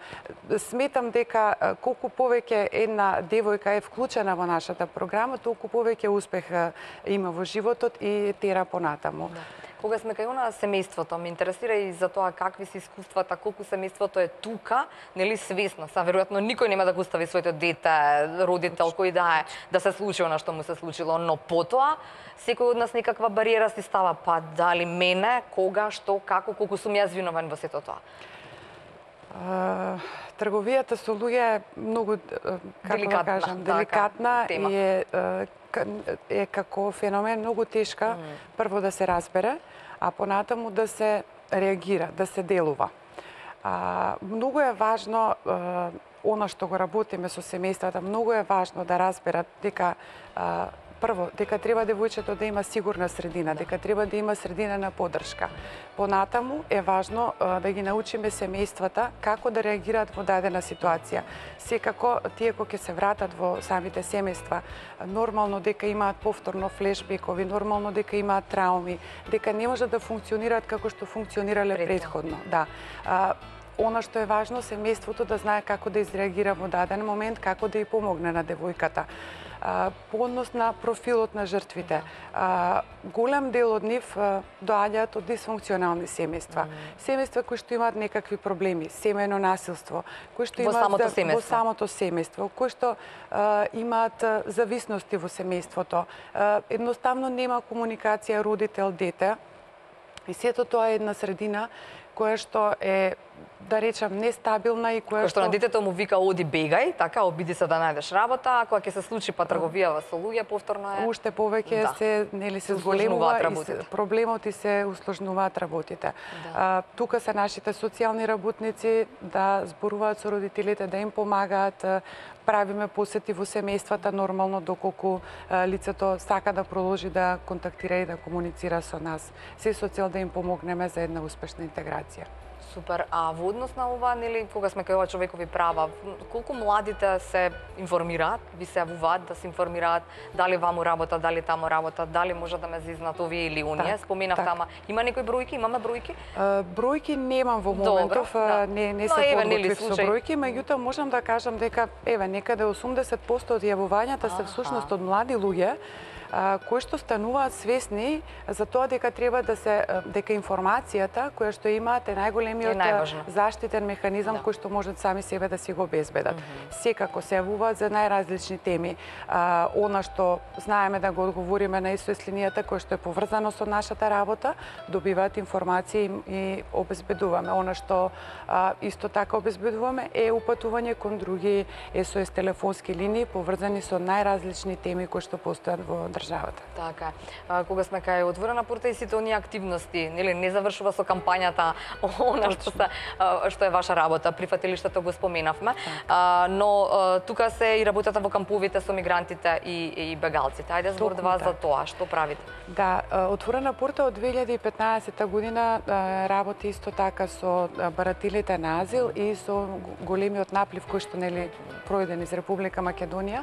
Сметам дека колку повеќе една девојка е вклучена во нашата програма, толку повеќе успех има во животот и тера понатаму. Да. Кога сме кај она семејството, ме интересира и за тоа какви се искуствата, колку семејството е тука, нели свесно. Са веројатно никој нема да го остави своето дете, родител кој да е, да се случи она што му се случило, но потоа секој од нас некаква бариера си става, па дали мене, кога, што, како, колку сум јас виновен во сето тоа. Uh, трговијата со луѓе е многу, како деликатна, да кажам, деликатна така, и е, е како феномен многу тешка, mm. прво да се разбере, а понатаму да се реагира, да се делува. А, многу е важно а, она што го работиме со семејствата, многу е важно да разберат дека а, прво, дека треба девојчето да има сигурна средина, дека треба да има средина на поддршка. Понатаму е важно а, да ги научиме семејствата како да реагираат во дадена ситуација. Секако, тие кои ќе се вратат во самите семејства, нормално дека имаат повторно флешбекови, нормално дека имаат трауми, дека не можат да функционираат како што функционирале предходно. Да. А, Она што е важно, семејството да знае како да изреагира во даден момент, како да ја помогне на девојката. По однос на профилот на жртвите, голем дел од нив доаѓаат од дисфункционални семејства. Семејства кои што имаат некакви проблеми, семејно насилство, кои што имаат самото семејство. во самото семејство, кои што имаат зависности во семејството. Едноставно нема комуникација родител-дете. И сето тоа е една средина која што е, да речам, нестабилна и која Кој што на детето му вика оди бегај, така обиди се да најдеш работа, а кога ќе се случи па трговија со луѓе, повторно е уште повеќе да. се нели се Се зголемува усложнуваат и се, проблемот и се усложнуваат работите. Да. А, тука се нашите социјални работници да зборуваат со родителите, да им помагаат, правиме посети во семејствата нормално доколку а, лицето сака да продолжи да контактира и да комуницира со нас. Се со цел да им помогнеме за една успешна интеграција. Супер. А во однос на ова, нели, кога сме кај ова човекови права, колку младите се информираат, ви се јавуваат да се информираат дали ваму работа, дали таму работа, дали може да ме зизнат овие или оние? Так, Споменав так. тама. Има некои бројки? Имаме бројки? А, бројки немам во моментов, Добро, да. не, не Но се еве, подготвив нели, со случај. бројки, меѓутоа можам да кажам дека еве некаде осумдесет посто од јавувањата се всушност од млади луѓе а, кои што стануваат свесни за тоа дека треба да се дека информацијата која што имаат е најголемиот Е заштитен механизам Да. кој што можат сами себе да си го обезбедат. Секако се јавуваат за најразлични теми. А, она што знаеме да го одговориме на ес о ес линијата која што е поврзано со нашата работа, добиваат информации и, и обезбедуваме. Она што а, исто така обезбедуваме е упатување кон други ес о ес телефонски линии поврзани со најразлични теми кои што постојат во државата. Така. А, кога сме кај отворена порта и сите оние активности, нели не завршува со кампањата она што се а, што е ваша работа, прифатилиштето го споменавме, а, но а, тука се и работата во камповите со мигрантите и, и бегалците. Ајде збор два за тоа, што правите? Да, отворена порта од две илјади и петнаесетта година работи исто така со барателите на азил и со големиот наплив кој што нели пројден из Република Македонија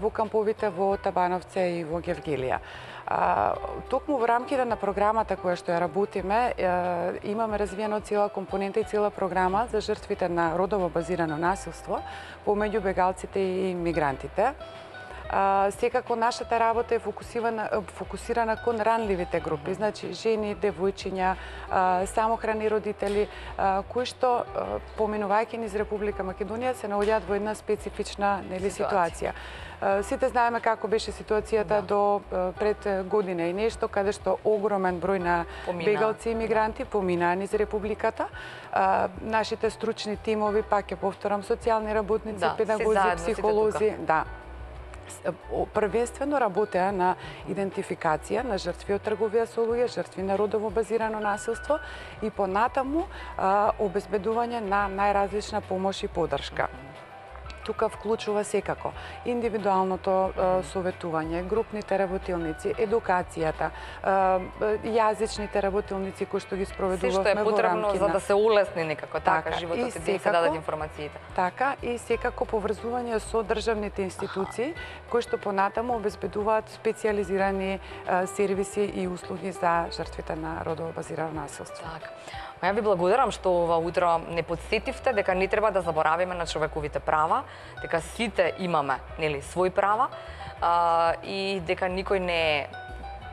во камповите во Табановце и во Гевгелија. А, токму во рамките на програмата која што ја работиме, е, имаме развиено цела компонента и цела програма за жртвите на родово базирано насилство помеѓу бегалците и мигрантите. А, секако нашата работа е фокусирана, фокусирана кон ранливите групи, значи жени, девојчиња, а, самохрани родители, а, кои што, а, поминувајќи низ Република Македонија, се наоѓаат во една специфична нели ситуација. Сите знаеме како беше ситуацијата да. до пред година и нешто, каде што огромен број на помина. бегалци и мигранти поминаа низ Републиката. А, нашите стручни тимови, пак ќе повторам, социјални работници, да, педагози, психолози, да, првенствено работеа на идентификација на жртви од трговија со луѓе, жртви на родово базирано насилство и понатаму а, обезбедување на најразлична помош и поддршка. Тука вклучува секако индивидуалното е, советување, групните работилници, едукацијата, е, јазичните работилници кои што ги спроведувавме во рамките. Се што е потребно за да се улесни некако така, така животот и да се дадат информациите. Така и секако поврзување со државните институции кои што понатаму обезбедуваат специјализирани е, сервиси и услуги за жртвите на родово базирано насилство. Така. Ја ви благодарам што ова утро не подсетивте дека не треба да заборавиме на човековите права, дека сите имаме, нели, свои права а, и дека никој не е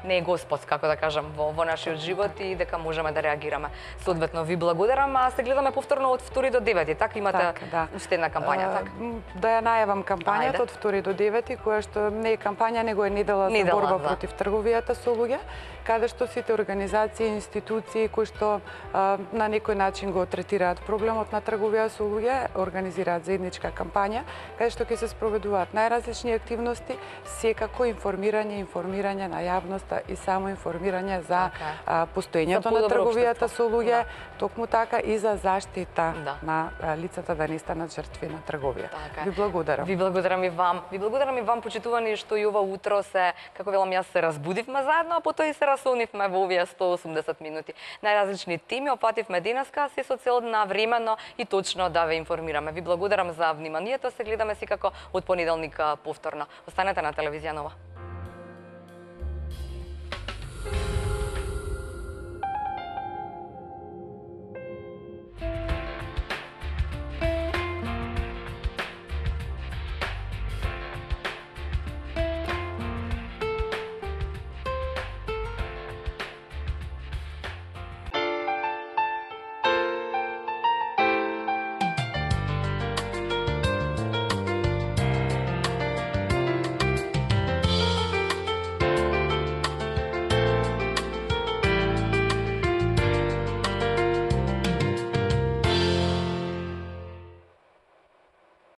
не е господ, како да кажам, во, во нашиот живот и дека можеме да реагираме. Соодветно ви благодарам, а се гледаме повторно од втори до девети, така имате така, да. уште една кампања, така? Да ја најавам кампањата Ајде. од втори до девети, која што не е кампања, него е недела за борба да. против трговијата со луѓе, каде што сите организации и институции кои што а, на некој начин го третираат проблемот на трговија со луѓе, организираат заедничка кампања, каде што ќе се спроведуваат најразлични активности, секако информирање, информирање на јавност заштита и само информирање за Така. постоењето За на подобро трговијата општество. со луѓе, токму така и за заштита Да. на а, лицата да не станат жртви на трговија. Така е. Ви благодарам. Ви благодарам и вам. Ви благодарам и вам, почитувани, што и ова утро се, како велам јас, се разбудивме заедно, а потоа и се расонивме во овие сто и осумдесет минути. Најразлични теми опативме денеска, се со цел на времено и точно да ве информираме. Ви благодарам за вниманието, се гледаме секако од понеделник повторно. Останете на телевизија Нова.